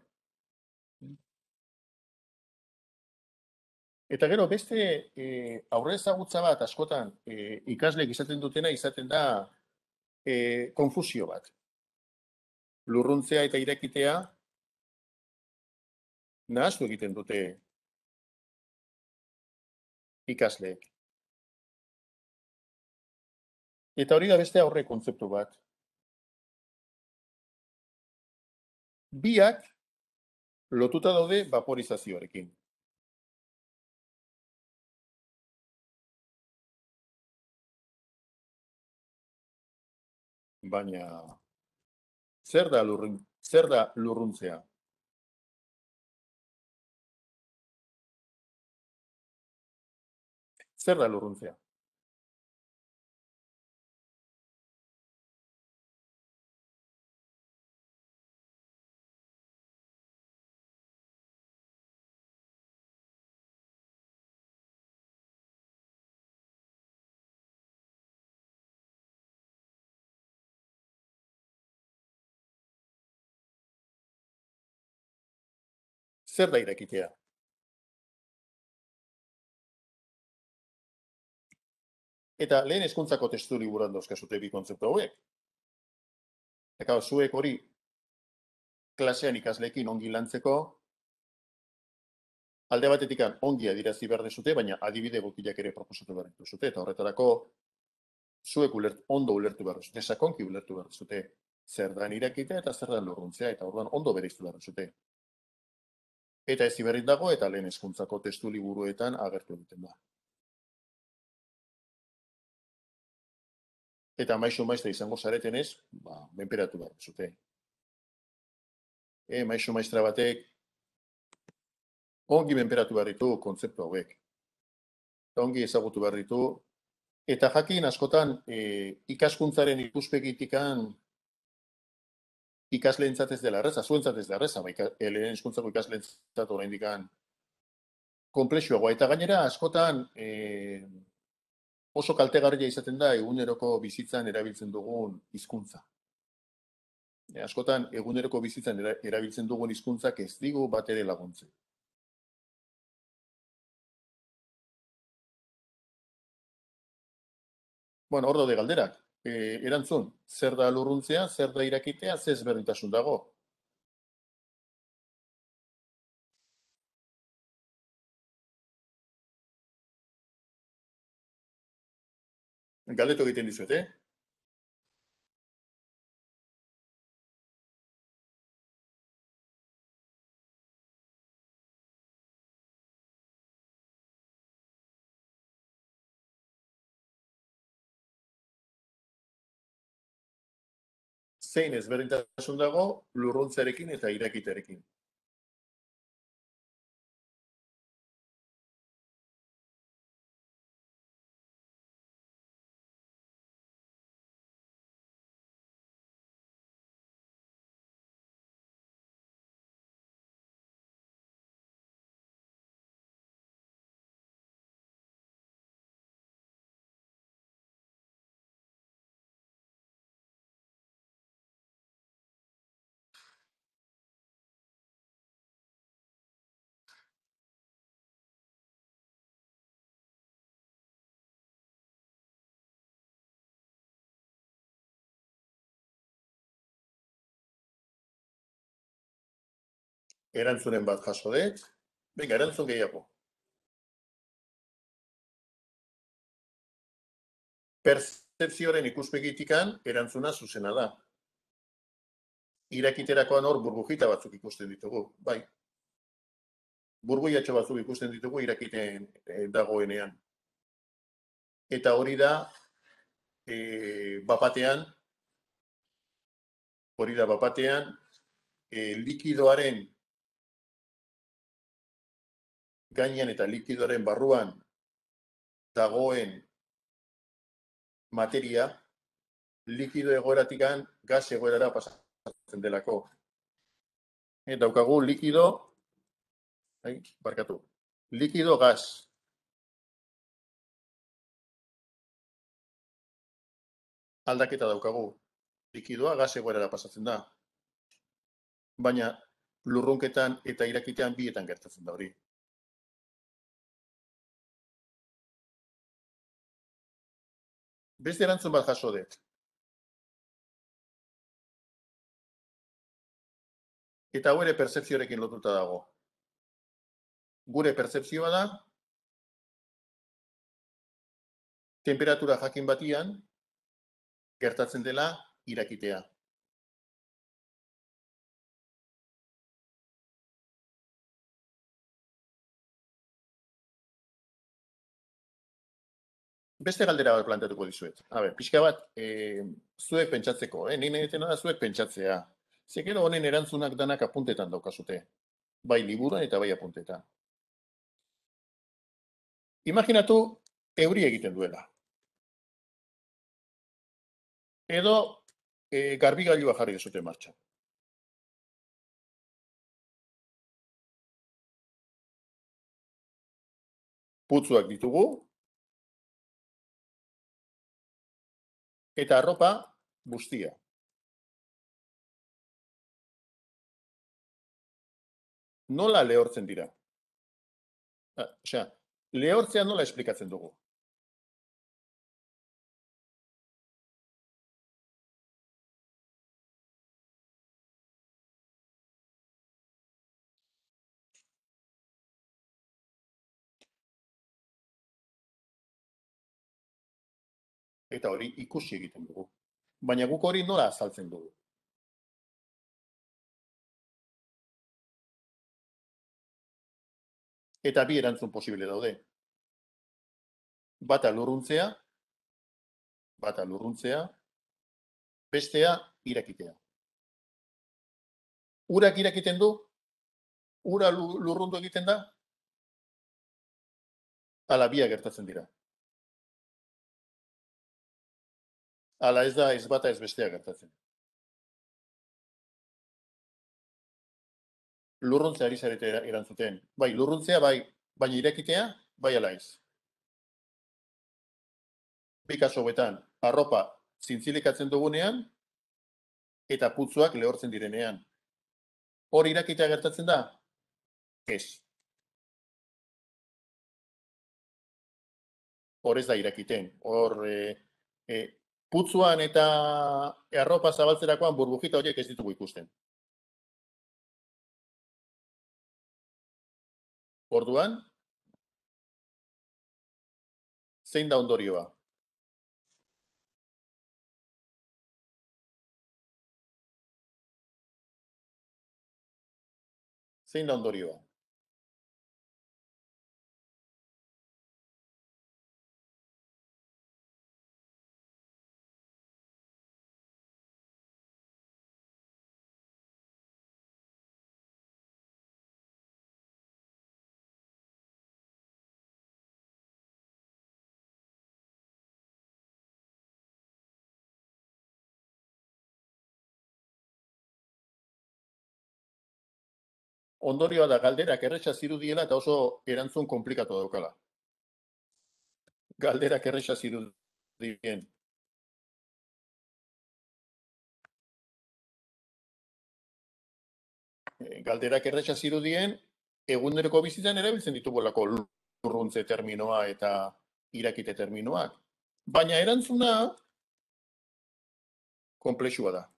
Eta gero, beste aurre ezagutza bat askotan ikasleek izaten dutena izaten da konfusio bat. Lurruntzea eta irekitea nahastu egiten dute ikasleek. Eta hori da beste aurre kontzeptu bat. Biak lotuta daude vaporizazioarekin. Baina zer da lurruntzea? Zer da lurruntzea? Zer da irekitea? Eta lehen hezkuntzako testu liburuan dauzkazute bi kontzeptu hauek. Eta zuek hori klasean ikasleekin ongi lantzeko, alde batetik ongi adirazi behar dezute, baina adibide egokiak ere proposatu behar dituzute, eta horretarako zuek ondo ulertu behar duzute, sakonki ulertu behar duzute, zer da irekitea eta zer da lurruntzea, eta orduan ondo bereiztu behar duzute. Eta ez iberrit dago, eta lehen hezkuntzako testu liburuetan agertu egiten da. Eta maisu maistra izango zaretenez, menperatu behar duzute. Maisu maistra batek ongi menperatu behar ditu kontzeptu hauek. Ongi ezagutu behar ditu. Eta jakin askotan ikaskuntzaren ikuspegitikan ikasleentzat ez dela erreza, zuentzat ez dela erreza, lehen hezkuntzako ikasleentzat oraindikan konplexuagoa. Eta gainera askotan oso kaltegarria izaten da eguneroko bizitzan erabiltzen dugun hizkuntza. Askotan eguneroko bizitzan erabiltzen dugun hizkuntzak ez digu bat ere laguntzen. Bueno, hor daude galderak. Erantzun, zer da lurruntzea, zer da irakitea, zer ezberdintasun dago. Galdetu egiten dizuet, Zein ezberdintasun dago lurruntzearekin eta irakitearekin. Erantzunen bat jaso dut. Venga, erantzun gehiago. Perzepzioaren ikuspegitikan erantzuna zuzena da. Irakiterakoan hor burbujita batzuk ikusten ditugu, bai. Burbuiatxo batzuk ikusten ditugu irakiten dagoenean. Eta hori da, bapatean, likidoaren gainean eta likidoaren barruan dagoen materia, likido egoeratikan gas egoerara pasatzen delako. Daukagu likido, likido gas. Aldaketa daukagu. Likidoa gas egoerara pasatzen da. Baina lurrunketan eta irakitean bietan gertatzen da hori. Beste erantzun bat jaso dut. Eta hau ere perzepzioarekin lotuta dago. Gure perzepzioa da, temperatura jakin batian, gertatzen dela irakitea. Beste galdera bat planteatuko dizuet. Pixka bat, zuek pentsatzeko, nire egiten da zuek pentsatzea. Zekero honen erantzunak danak apuntetan daukazute. Bai liburuan eta bai apuntetan. Imaginatu, euri egiten duela. Edo, garbigailua jarri dezute martxan. Putzuak ditugu, eta arropa bustia. Nola lehortzen dira? Lehortzea nola esplikatzen dugu? Eta hori ikusi egiten dugu. Baina guk hori nola azaltzen dugu? Eta bi erantzun posible daude. Bata lurruntzea, bestea irakitea. Urak irakiten du? Ura lurrundu egiten da? Ala biak gertatzen dira. Ala ez da ez bata ez bestea gertatzen. Lurruntzea ari zarete erantzuten. Bai, lurruntzea bai, baina irakitea bai ala ez. Bi kasu hauetan, arropa zintzilikatzen dugunean eta putzuak lehortzen direnean. Hor irakitea gertatzen da? Ez. Hor ez da irakiten. Hor putzuan eta arropa zabaltzerakoan burbujita horiek ez ditugu ikusten. Orduan, zein da ondorioa? Zein da ondorioa? Ondorioa da galderak erresa zirudiela eta oso erantzun komplikatu daukala. Galderak erresa zirudien. Galderak erresa zirudien, eguneroko bizitzan erabiltzen ditugulako lurruntze terminoa eta irakite terminoak. Baina erantzuna konplexua da.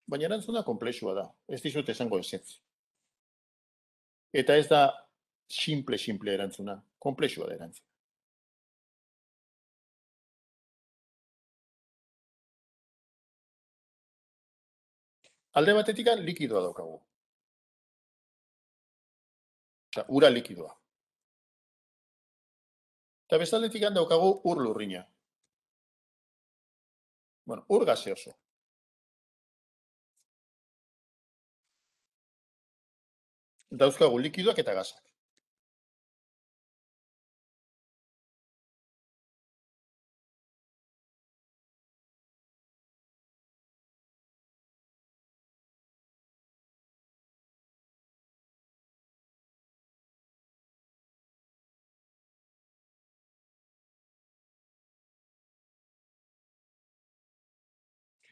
baina erantzuna konplexua da. Ez dizut esango ezetz. Eta ez da simple erantzuna, konplexua da erantzuna. Alde batetik likidoa daukagu. Osa, ura likidoa. Eta bestaldetik daukagu ur lurrina. Bueno, ur gaseoso. Dauzkagu likidoak eta gasak.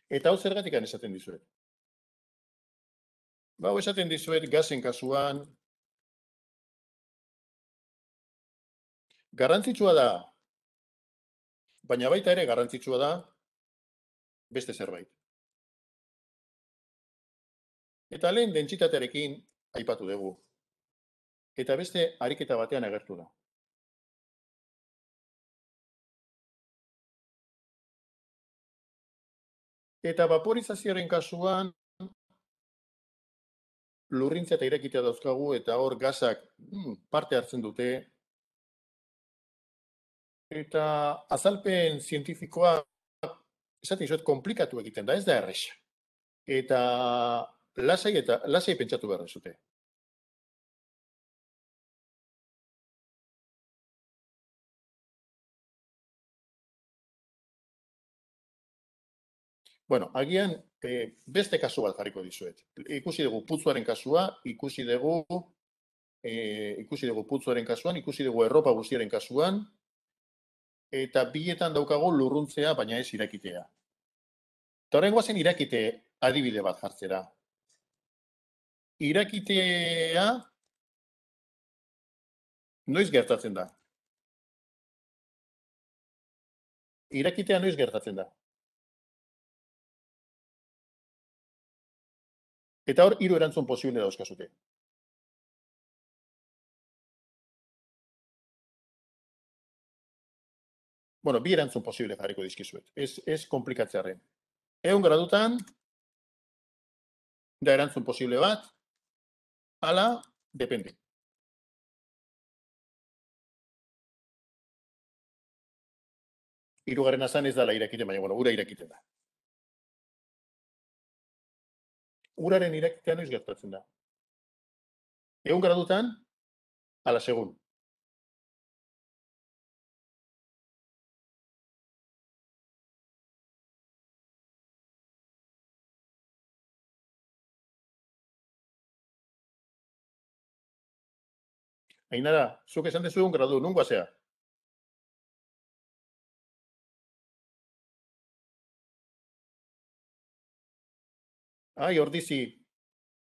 Eta hau zergatik esaten dizuet. Ba, hau esaten dizuet gazen kasuan, garrantzitsua da, baina baita ere garrantzitsua da beste zerbait. Eta lehen dentsitatearekin aipatu dugu. Eta beste ariketa batean agertu da. Eta vaporizazioaren kasuan lurrintza eta irekitea dauzkagu eta hor gasak parte hartzen dute. Eta azalpen zientifikoa esaten dizuet komplikatu egiten da, ez da erresa. Eta lasai pentsatu behar zute. Bueno, agian beste kasu bat jarriko dizuet. Ikusi dugu putzuaren kasua, ikusi dugu putzuaren kasuan, ikusi dugu erropa guztiaren kasuan, eta bietan daukagu lurruntzea, baina ez irakitea. Eta horren guazen irakite adibide bat jartzera. Irakitea noiz gertatzen da? Irakitea noiz gertatzen da? Eta hor, 3 erantzun posible dauzkazute. Bueno, 2 erantzun posible jarriko dizkizuet. Ez komplikatzearen. 100 gradutan, da erantzun posible bat, ala, depende. Hirugarren azan ez dala irakiten, baina, bueno, ura irakiten da. Uraren irakitea noiz gertatzen da. 100 gradutan, ala segun. Ainara, zuk esan dezu 1 gradu, nungoa zea? Ai, ordizi.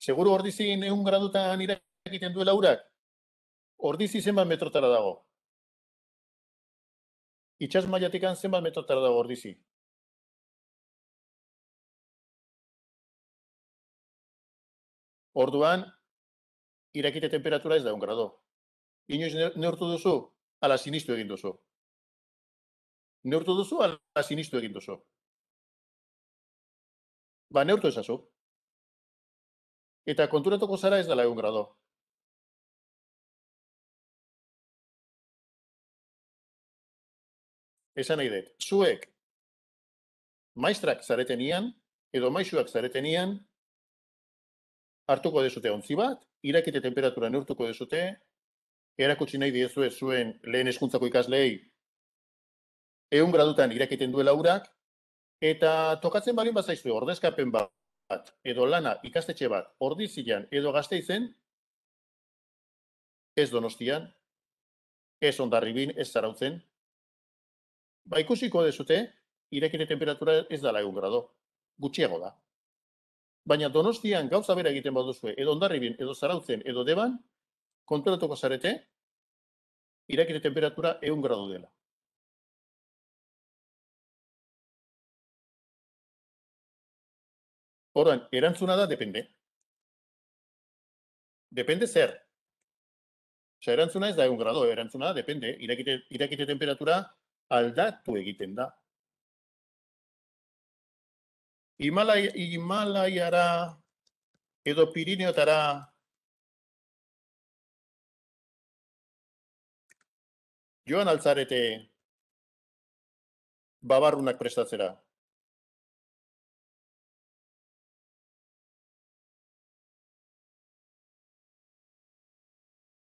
Seguru ordizi 100 gradutan irakiten duela urak? Ordizi zenbat metrotara dago? Itxas mailatikan zenbat metrotara dago ordizi? Orduan, irakite temperatura ez da 1 grado. Inoiz neurtu duzu, ala sinistu egin duzu. Neurtu duzu, ala sinistu egin duzu. Ba, neurtu ezazu. Eta konturatuko zara ez dela 1 grado. Esan nahi dut, zuek maistrak zaretenian, edo maisuak zaretenian, hartuko dezute ontzi bat, irakite temperatura neurtuko dezute, erakutsi nahi diezue zuen lehen hezkuntzako ikasleei 100 gradutan irakiten duela urak, eta tokatzen balin bazaizue ordezkapen bat, edo lana ikastetxe bat, Ordizian edo Gasteizen, ez Donostian, ez Hondarribin, ez Zarautzen, ba ikusiko dezute, irakite temperatura ez dala 1 grado, gutxiago da. Baina Donostian gauza bera egiten baduzue, edo Hondarribin, edo Zarautzen, edo Deban, konturatuko zarete, irakite temperatura 1 grado dela. Orduan, erantzuna da, depende. Depende zer. Osea, erantzuna ez da 1 grado, erantzuna da, depende. Irakite temperatura aldatu egiten da. Himalaiara edo Pirineotara joan altzarete babarrunak prestatzera.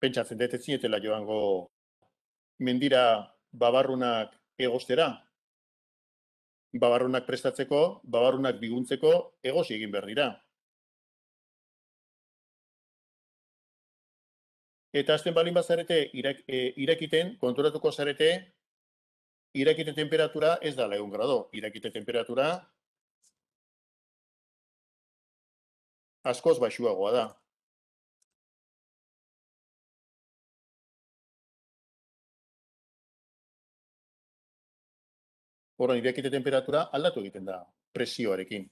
Pentsatzen dut ez zinetela joango mendira babarrunak egostera. Babarrunak prestatzeko, babarrunak biguntzeko egosi egin behar dira. Eta hasten balin bazarete irakiten, konturatuko zarete, irakite temperatura ez da 1 grado. Irakite temperatura askoz baxuagoa da. Orduan, irakite temperatura aldatu egiten da presioarekin.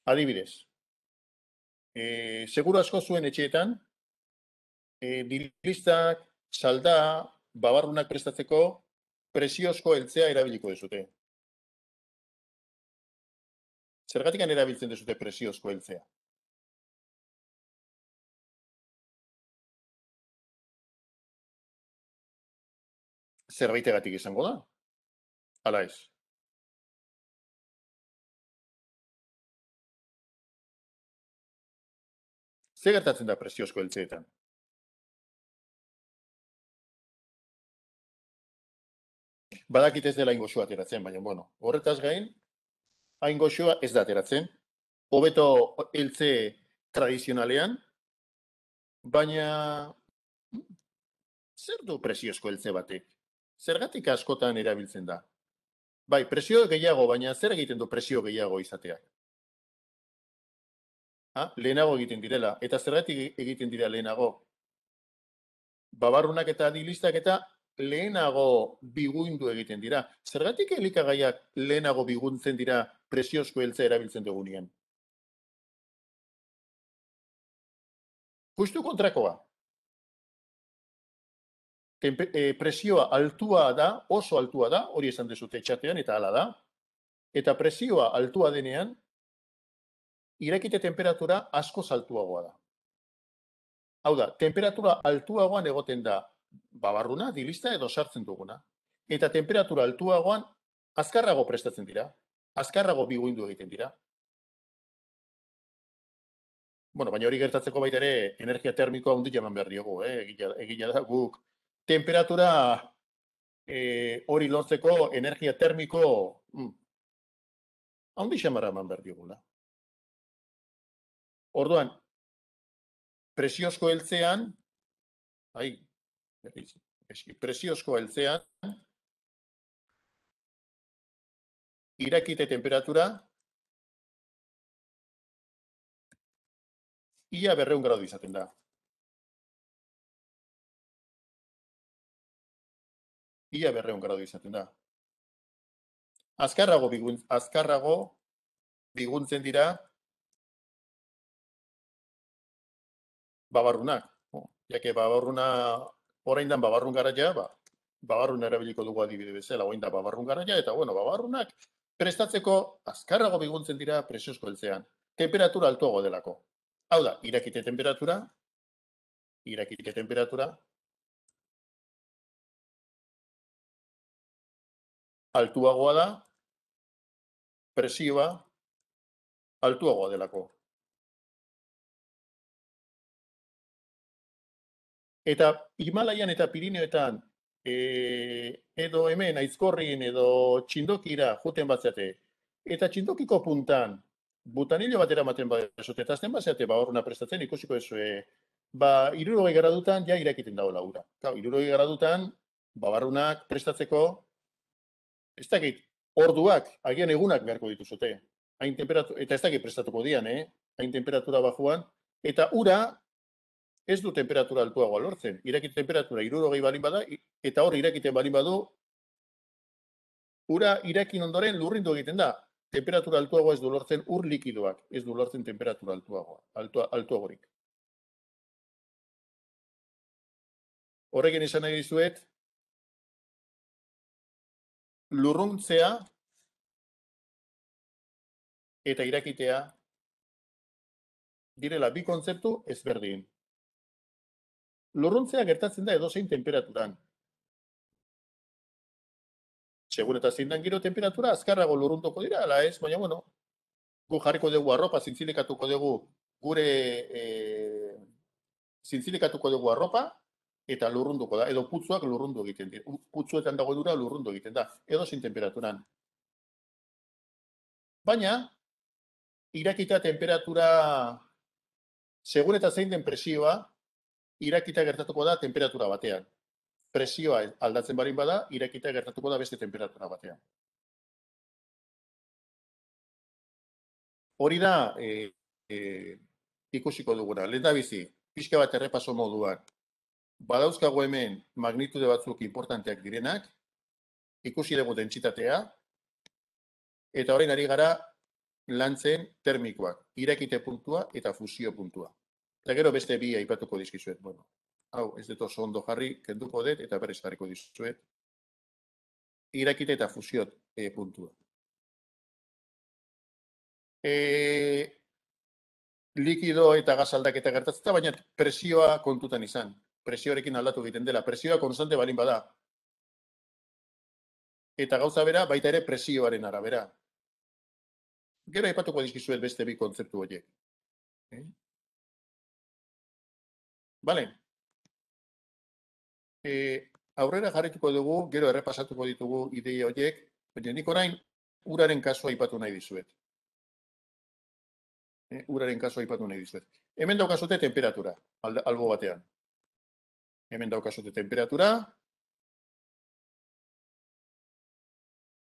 Adibidez, seguru asko zuen etxeetan, dilistak, salda, babarrunak prestatzeko presiozko heltzea erabiliko dezute. Zergatikan erabiltzen dezute presiozko heltzea? Zerbaitegatik izango da? Ala ez. Ze gertatzen da presiozko heltzeetan? Badakit ez dela hain goxoa ateratzen, baina, bueno, horretaz gain, hain goxoa ez da ateratzen. Hobeto heltze tradizionalean, baina zer du presiozko heltze batek? Zergatik askotan erabiltzen da? Bai, presio gehiago, baina zer egiten du presio gehiago izateak? Lehenago egiten direla. Eta zergatik egiten dira lehenago? Babarrunak eta dilistak eta lehenago biguindu egiten dira. Zergatik elikagaiak lehenago biguntzen dira presiozko heltzea erabiltzen dugunean? Justu kontrakoa. Presioa altua da, oso altua da, hori esan dezute txatean, eta hala da. Eta presioa altua denean, irakite temperatura asko altuagoa da. Hau da, temperatura altuagoan egoten da babarruna, dilista edo sartzen duguna. Eta temperatura altuagoan azkarrago prestatzen dira, azkarrago biguindu egiten dira. Bueno, baina hori gertatzeko baita ere energia termikoa handia eman behar diogu, egila da guk. Temperatura hori lortzeko energia termiko handi xamarra eman behar diogula. Orduan, presiozko heltzean, presiozko heltzean, irakite temperatura ia 200 gradu izaten da. Ia 200 gradu izaten da. Azkarrago biguntzen dira babarrunak. Jake babarruna, orain dan babarrun garaia, babarrun erabiliko dugu adibide bezala, orain da babarrun garaia, eta bueno, babarrunak prestatzeko azkarrago biguntzen dira presiozko heltzean. Temperatura altuago delako. Hau da, irakite temperatura, altuagoa da, presioa altuagoa delako. Eta Himalaian eta Pirineoetan edo hemen Aizkorrin edo Txindokira juten batzeate, eta Txindokiko puntan butanillo batera ematen badezute, eta azten batzeate babarruna prestatzen ikusiko ez, 60 gradutan ja irakiten dagoela ura. 60 gradutan babarrunak prestatzeko, ez dakit, orduak, agian egunak beharko dituzute. Eta ez dakit prestatuko dian, hain temperatura bajuan, Eta ura ez du temperatura altuagoa lortzen. Irakite temperatura 60 balin bada, eta hor irakiten balin badu, ura irakin ondoren lurrindu egiten da. Temperatura altuagoa ez du lortzen ur likidoak, ez du lortzen temperatura altuagorik. Horrekin esan nahi dizuet, lurruntzea eta irakitea direla bi kontzeptu ezberdin. Lurruntzea gertatzen da edozein temperaturan. Segun eta zein dan giro temperatura, azkarrago lurruntuko dira, ala ez, baina bueno, gu jarriko dugu arropa, zintzilikatuko dugu gure zintzilikatuko dugu arropa, eta lurrunduko da, edo putzuak lurrundu egiten dira. Putzuetan dago dura lurrundu egiten da, edozein temperaturan. Baina, irakita temperatura, segun eta zein den presioa, irakita gertatuko da temperatura batean. Presioa aldatzen barin bada, irakita gertatuko da beste temperatura batean. Hori da ikusiko duguna. Lehendabizi, pixka bat errepaso moduan. Badauzkago hemen magnitude batzuk importanteak direnak, ikusi dugu dentsitatea, eta orain ari gara lantzen termikoak, irakite puntua eta fusio puntua. Eta gero beste bi aipatuko dizkizuet. Bueno, hau, ez dut oso ondo jarri, kenduko dut eta berriz jarriko dizuet. Irakite eta fusio puntua. Likido eta gas aldaketa gertatzen, baina presioa kontutan izan. Presioarekin aldatu egiten dela. Presioa konstante balin bada. Eta gauza bera, baita ere presioaren arabera. Gero aipatuko dizkizuet beste bi kontzeptu horiek. Bale. Aurrera jarrituko dugu, gero errepasatuko ditugu ideia horiek, baina nik orain uraren kasua aipatu nahi dizuet. Uraren kasua aipatu nahi dizuet. Hemen daukazute temperatura, albo batean. Hemen daukazute temperatura.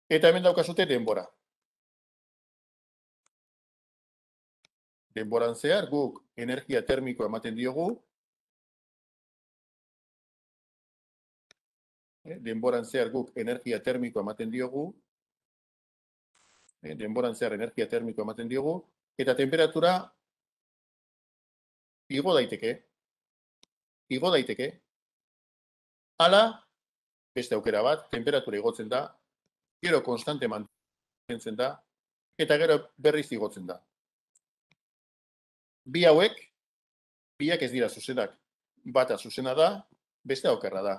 Eta hemen daukazute denbora. Denboran zehar guk energia termikoa ematen diogu. Denboran zehar guk energia termikoa ematen diogu. Denboran zehar energia termikoa ematen diogu. Eta temperatura igo daiteke. Igo daiteke. Hala, beste aukera bat, temperatura igotzen da, gero konstante mantentzen da, eta gero berriz igotzen da. Bi hauek, biak ez dira zuzenak. Bata zuzena da, beste okerra da.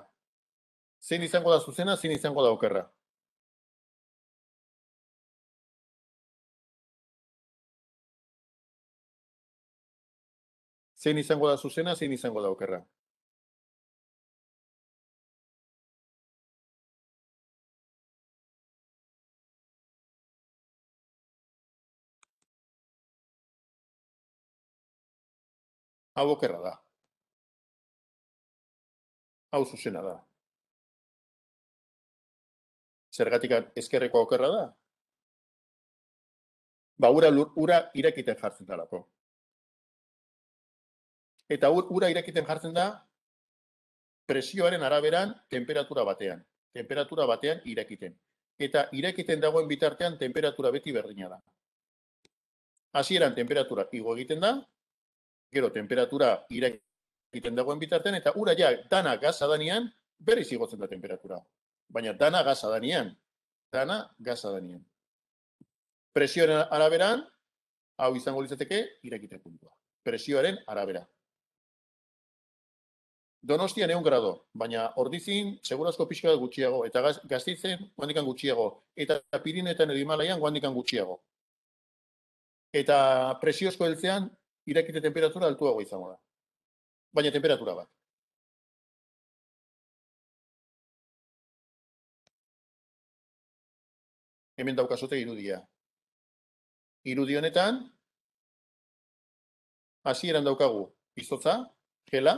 Zein izango da zuzena, zein izango da okerra. Zein izango da zuzena, zein izango da okerra. Hau okerra da. Hau zuzena da. Zergatik ezkerreko okerra da? Ba, ura irakiten jartzen dalako. Eta ura irakiten jartzen da presioaren araberan temperatura batean. Temperatura batean irakiten. Eta irakiten dagoen bitartean temperatura beti berdina da. Hasieran temperatura igo egiten da, gero temperatura irakiten dagoen bitartean, eta ura ja dana gaza danean, berriz igotzen da temperatura. Baina dana gaza danean. Dana gaza danean. Presioaren araberan, hau izango litzateke, irakite puntua. Presioaren arabera. Donostian 100 grado, baina Ordizin segurazko pixka bat gutxiago, eta Gasteizen guandikan gutxiago, eta Pirinetan edo Himalaian guandikan gutxiago. Eta presiozko heltzean, irakite temperatura altuago izango da. Baina temperatura bat. Hemen daukazote irudia. Irudi honetan, hasieran daukagu izotza, gela,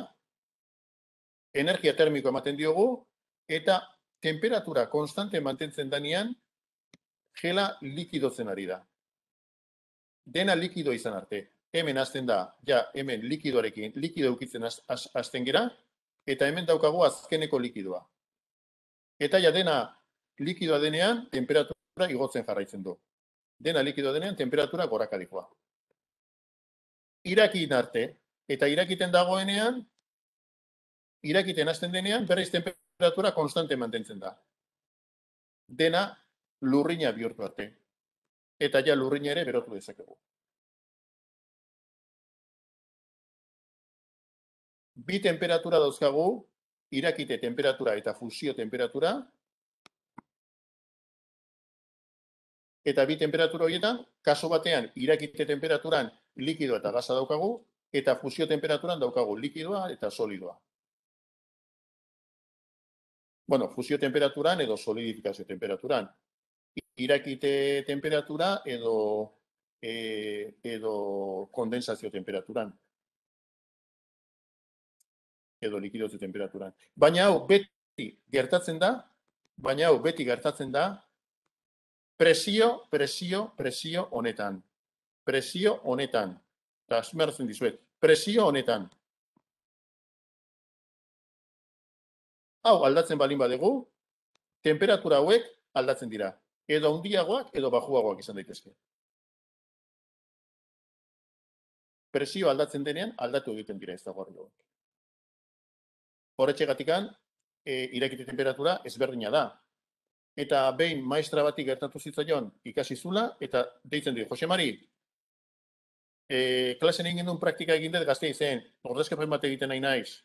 energia termikoa ematen diogu, eta temperatura konstante mantentzen danean, gela likidotzen ari da. Dena likido izan arte. hemen hasten da, ja, hemen likidoarekin, likido eukitzen hasten gera, eta hemen daukagu azkeneko likidoa. Eta ja dena likidoa denean, temperatura igotzen jarraitzen du. Dena likidoa denean, temperatura gorakarikoa. Irakin arte, eta irakiten dagoenean, irakiten hasten denean, berriz temperatura konstante mantentzen da. Dena lurrina bihurtu arte. Eta ja lurrina ere berotu dezakegu. Bi temperatura dauzkagu, irakite temperatura eta fusio temperatura, eta bi temperatura horietan, kaso batean, irakite temperaturan likidoa eta gaza daukagu, eta fusio temperaturan daukagu likidoa eta solidoa. Bueno, fusio temperaturan edo solidifikazio temperaturan. Irakite temperatura edo kondensazio temperaturan. Edo likidozio temperaturan. Baina hau beti gertatzen da, presio honetan. Presio honetan. Eta asmertzen dizuet. Presio honetan. Hau aldatzen balin badegu, temperatura hauek aldatzen dira. Edo handiagoak edo bajuagoak izan daitezke. Presio aldatzen denean aldatu egiten dira ez dago hori. Horretxegatikan, irakite temperatura ezberdina da. Eta behin maestra bati gertatu zitzaion ikasi zula, eta deitzen dio, Jose Mari, klasen egin duen praktika egin dut gazte izen, ordezkapen bat egiten nahi naiz.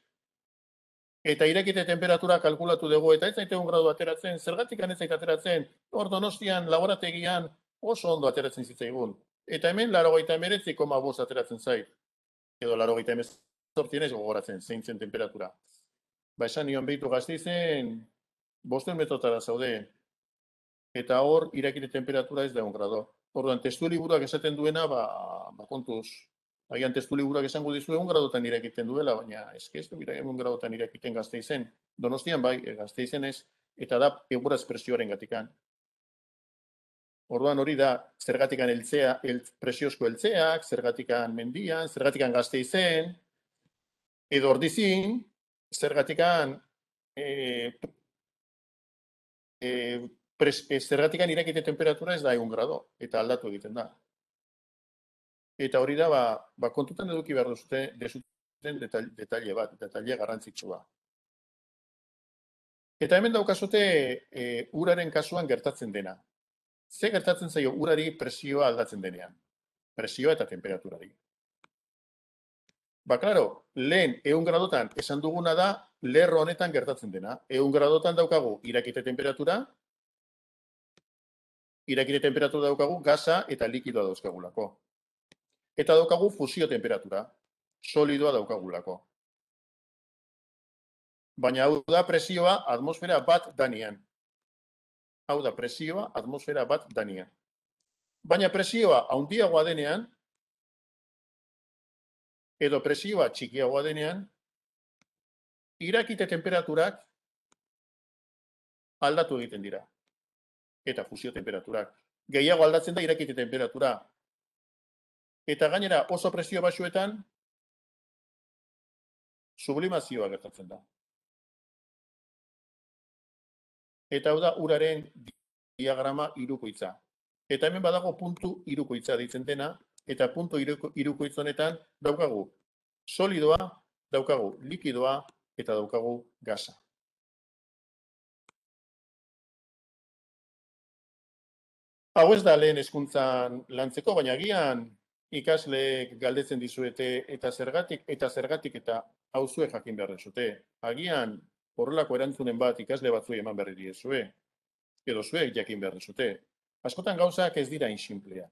Eta irakite temperatura kalkulatu dugu, eta ez zaite 1 gradu ateratzen, zergatik ez zaite ateratzen, hor Donostian, laborategian, oso ondo ateratzen zitzaigun. Eta hemen, 89,5 ateratzen zait. Edo 88 ez gogoratzen, zein zen temperatura. Ba, esan nion behitu gazte izen, 500 metrotara zaude. Eta hor, irakite temperatura ez da 1 grado. Orduan, testu liburuak esaten duena, ba kontuz, agian testu liburuak esango dizu 1 gradotan irakiten duela, baina ez du 1 gradotan irakiten gazte izen. Donostian bai, gazte izen ez, eta da eguraz presioaren gatikan. Orduan hori da, zergatikan presiozko eltzeak, zergatikan mendian, zergatikan gazte izen, edo ordizin, zergatikan zergatikan irakite temperatura ez da 1 grado, eta aldatu egiten da. Eta hori da, kontutan eduki behar duzuten detalle bat, detalle garrantzitsua. Eta hemen daukazute uraren kasuan gertatzen dena. Ze gertatzen zaio urari presioa aldatzen denean? Presioa eta temperaturari. Ba, klaro, lehen 1 gradotan esan duguna da, lerro honetan gertatzen dena. 1 gradotan daukagu irakite temperatura daukagu gaza eta likidoa dauzkagulako. Eta daukagu fusio temperatura, solidoa daukagulako. Baina hau da presioa atmosfera bat danean. Baina presioa handiagoa denean, edo presioa txikiagoa denean, irakite temperaturak aldatu egiten dira. Eta fusio temperaturak. Gehiago aldatzen da irakite temperatura. Eta gainera oso presio basuetan, sublimazioa gertatzen da. Eta hau da uraren diagrama hirukoitza. Eta hemen badago puntu hirukoitza deitzen dena, eta puntu hirukoitz honetan daukagu solidoa, daukagu likidoa, eta daukagu gaza. Hau ez da lehen hezkuntzan lantzeko, baina agian ikasleek galdetzen dizuete eta zergatik eta hau zuek jakin behar dezute. Agian horrelako erantzunen bat ikasle batzuei eman berri diezue, edo zuek jakin behar dezute. Askotan gauzak ez dira insimpleak.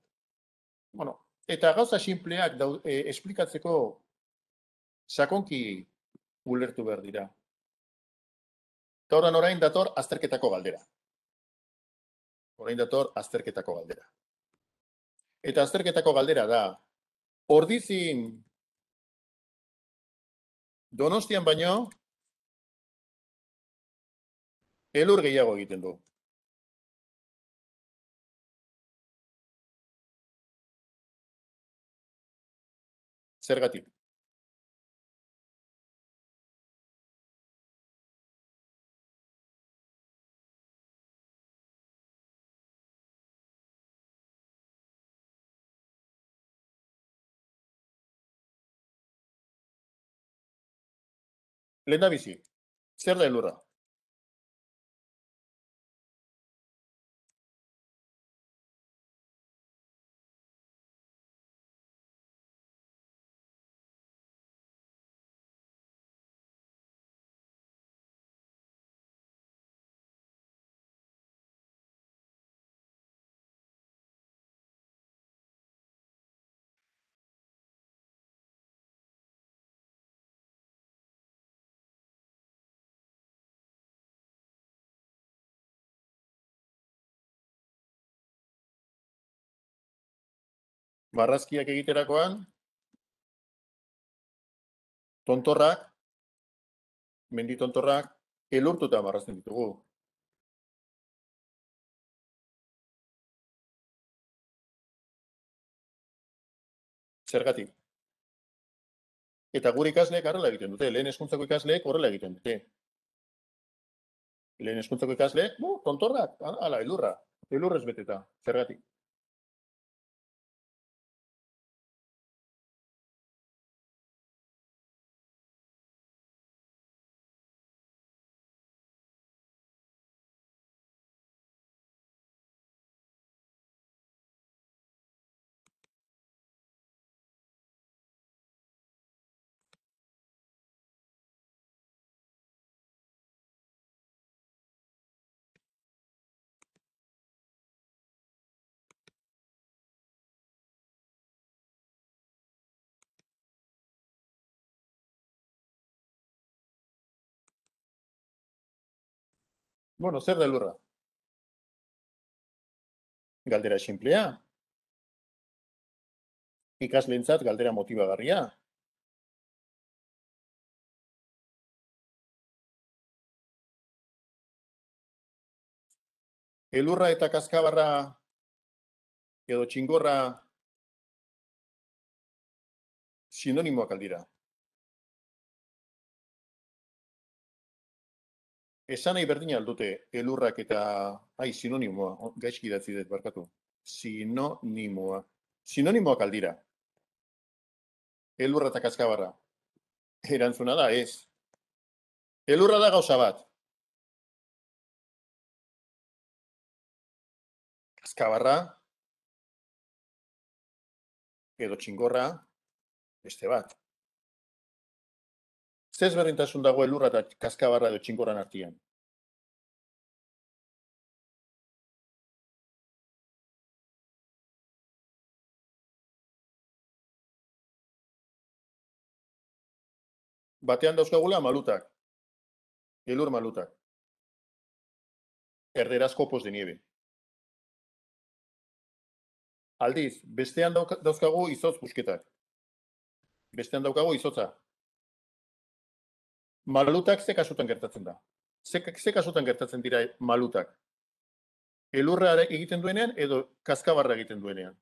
Bueno, eta gauza sinpleak esplikatzeko sakonki ulertu behar dira. Eta orain dator azterketako galdera. Eta azterketako galdera da, Ordizin Donostian baino, elur gehiago egiten du. Zergatik. Lehendabizi, zer da elurra? Marrazkiak egiterakoan, tontorrak, mendi tontorrak, elurtuta marrazten ditugu. Zergatik. Eta gure ikasleek horrela egiten dute, lehen hezkuntzako ikasleek horrela egiten dute. Lehen hezkuntzako ikasleek, tontorrak, ala, elurra, elurrez beteta, zergatik. Bueno, zer da elurra? Galdera sinplea. Ikasleentzat galdera motibagarria. Elurra eta kaskabarra edo txingorra sinonimoak aldira. Esan nahi berdina aldute elurrak eta sinonimoa, gaizki idatzi dut barkatu. Sinonimoa. Sinonimoak aldira. Elurra eta kaskabarra. Erantzuna da, ez. Elurra da gauza bat. Kaskabarra edo txingorra beste bat. Zer ezberdintasun dago elurra eta kaskabarra edo txingorran artean? Batean dauzkagula malutak. Elur malutak. Erderaz copos de nieve. Aldiz, bestean dauzkagu izotz busketak. Bestean daukagu izotza. Malutak ze kasutan gertatzen da? Ze kasutan gertatzen dira malutak? Elurra egiten duenean edo kaskabarra egiten duenean?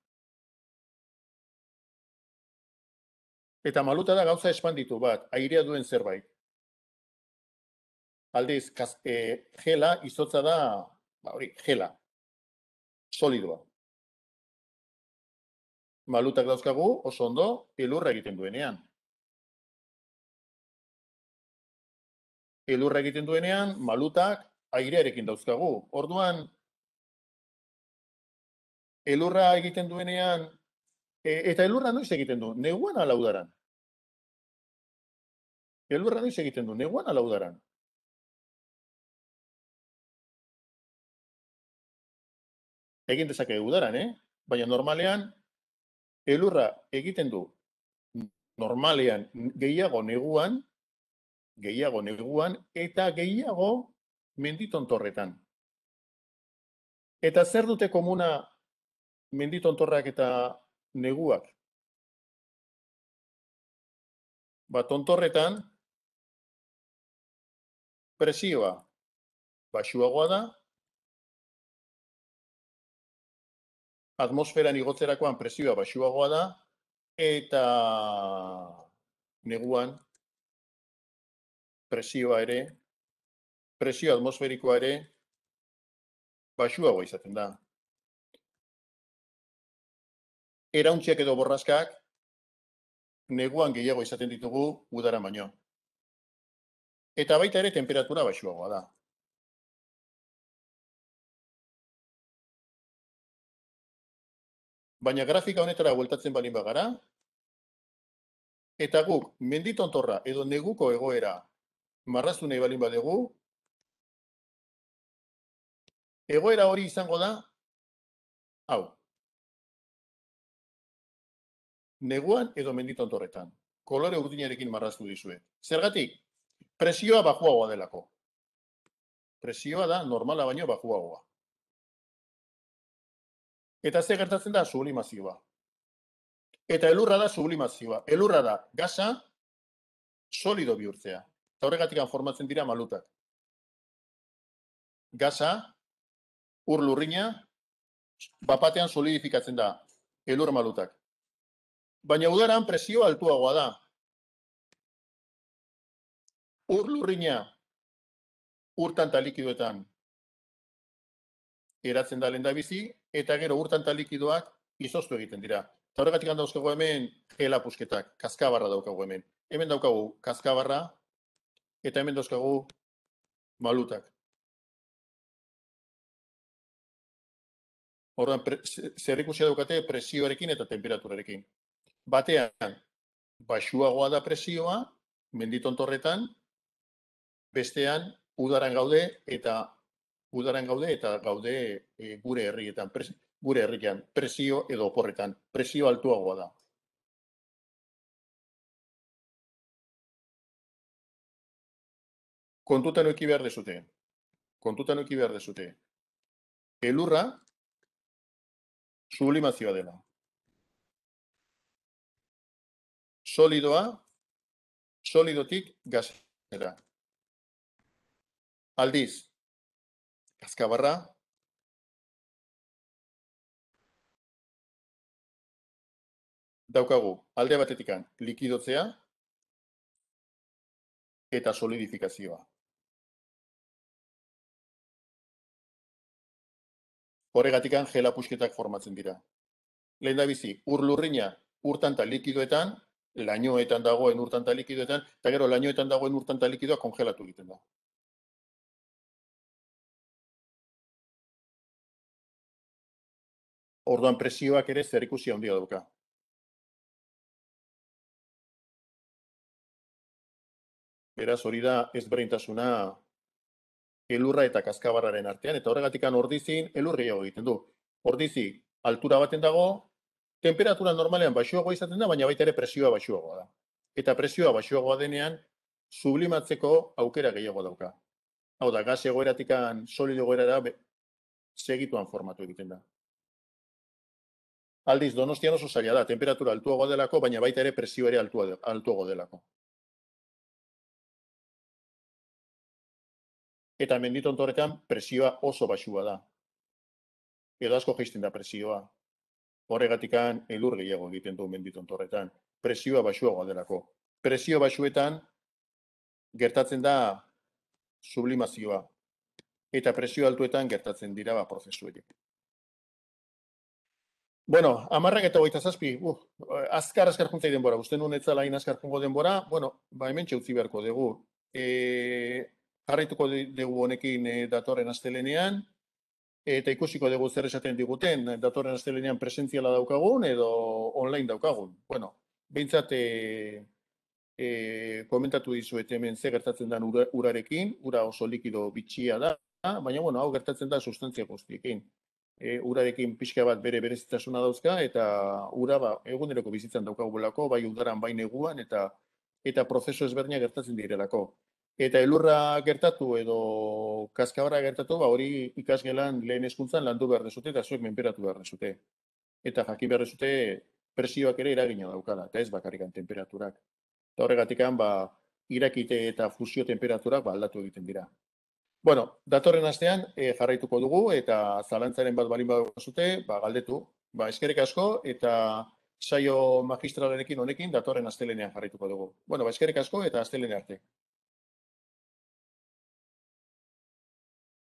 Eta maluta da gauza espanditu bat, airea duen zerbait. Aldiz, gela, izotza da, gela, solidoa. Malutak dauzkagu, oso ondo, elurra egiten duenean. Elurra egiten duenean, malutak airearekin dauzkagu. Orduan, elurra egiten duenean, eta elurra noiz egiten du? Neguan ala udaran? Elurra noiz egiten du? Neguan ala udaran? Egin dezake udaran, Baina normalean, elurra egiten du normalean gehiago neguan, eta gehiago menditontorretan. Eta zer dute komuna menditontorrak eta neguak? Tontorretan presioa baxuagoa da, atmosferan igotzerakoan presioa baxuagoa da, eta neguan presio atmosferikoa ere baxuagoa izaten da. Erauntziak edo borraskak neguan gehiago izaten ditugu udaran baino. Eta baita ere temperatura baxuagoa da. Baina grafika honetara bueltatzen balin bagara, eta guk menditontorra edo neguko egoera marraztu nahi balin badugu, egoera hori izango da, hau, neguan edo menditontorretan, kolore urdinarekin marraztu dizuet. Zergatik, presioa baxuagoa delako. Presioa da normala baino baxuagoa. Eta ze gertatzen da sublimazioa. Eta elurra da sublimazioa. Elurra da gasa solido bihurtzea. Eta horregatik formatzen dira malutak. Gasa, ur lurrina, bapatean solidifikatzen da elur malutak. Baina udaran presioa altuagoa da. Ur lurrina urtan eta likidoetan eratzen da lehendabizi, eta gero urtan eta likidoak izoztu egiten dira. Eta horregatik dauzkagu hemen gelapusketak, kaskabarra daukagu hemen. Hemen daukagu kaskabarra, eta hemen dauzkagu malutak. Orduan, zer ikusia daukate presioarekin eta temperaturarekin. Batean, baxuagoa da presioa, menditontorretan, bestean, udaran gaude eta gaude gure herrietan, gure herrian, presio edo oporretan, presio altuagoa da. Kontutan eduki behar dezute. Elurra sublimazioa dela. Solidotik gasera. Aldiz, kaskabarra, daukagu alde batetikan likidotzea eta solidifikazioa. Horregatikan gelapusketak formatzen dira. Lehendabizi, ur lurrina urtan eta likidoetan, lainoetan dagoen urtan eta likidoetan, eta gero lainoetan dagoen urtan eta likidoa kongelatu egiten da. Orduan presioak ere zerikusia handia dauka. Beraz, hori da ezberdintasuna elurra eta kaskabarraren artean, eta horregatikan ordizin elur gehiago egiten du. Ordizi, altura baten dago, temperatura normalean baxuagoa izaten da, baina baita ere presioa baxuagoa da. Eta presioa baxuagoa denean, sublimatzeko aukera gehiago dauka. Hau da, gas egoeratikan solido egoerara segituan formatu egiten da. Aldiz, Donostian oso zaila da, temperatura altuagoa delako, baina baita ere presio ere altuago delako. Eta menditontorretan presioa oso baxua da. Edo asko jaisten da presioa. Horregatikan elur gehiago egiten du menditontorretan. Presioa baxuagoa delako. Presio baxuetan gertatzen da sublimazioa. Eta presio altuetan gertatzen dira prozesuek. Bueno, 10:27. Azkar juntzai denbora. Uste nuen etzala hain azkar jungo denbora. Bueno, hemen utzi beharko dugu. Jarraituko dugu honekin datorren astelenean, eta ikusiko dugu zer esaten diguten, datorren astelenean presentziala daukagun edo online daukagun. Bueno, behintzat komentatu dizuet hemen ze gertatzen den urarekin, ura oso likido bitxia da, baina bueno, hau gertatzen da sustantzia guztiekin. Urarekin pixka bat bere berezitasuna dauzka, eta ura eguneroko bizitzan daukagulako, bai udaran, bai neguan, eta prozesu ezberdinak gertatzen direlako. Eta elurra gertatu edo kaskabarra gertatu, hori ikasgelan lehen hezkuntzan landu behar dezute eta zuek menperatu behar dezute. Eta jakin behar dezute presioak ere eragina daukala, eta ez bakarrikan temperaturak. Eta horregatikan, irakite eta fusio temperaturak aldatu egiten dira. Bueno, datorren astean jarraituko dugu, eta zalantzaren bat balin baduzute, galdetu. Eskerrik asko, eta saio magistralarekin honekin datorren astelenean jarraituko dugu. Bueno, eskerrik asko eta astelene arte.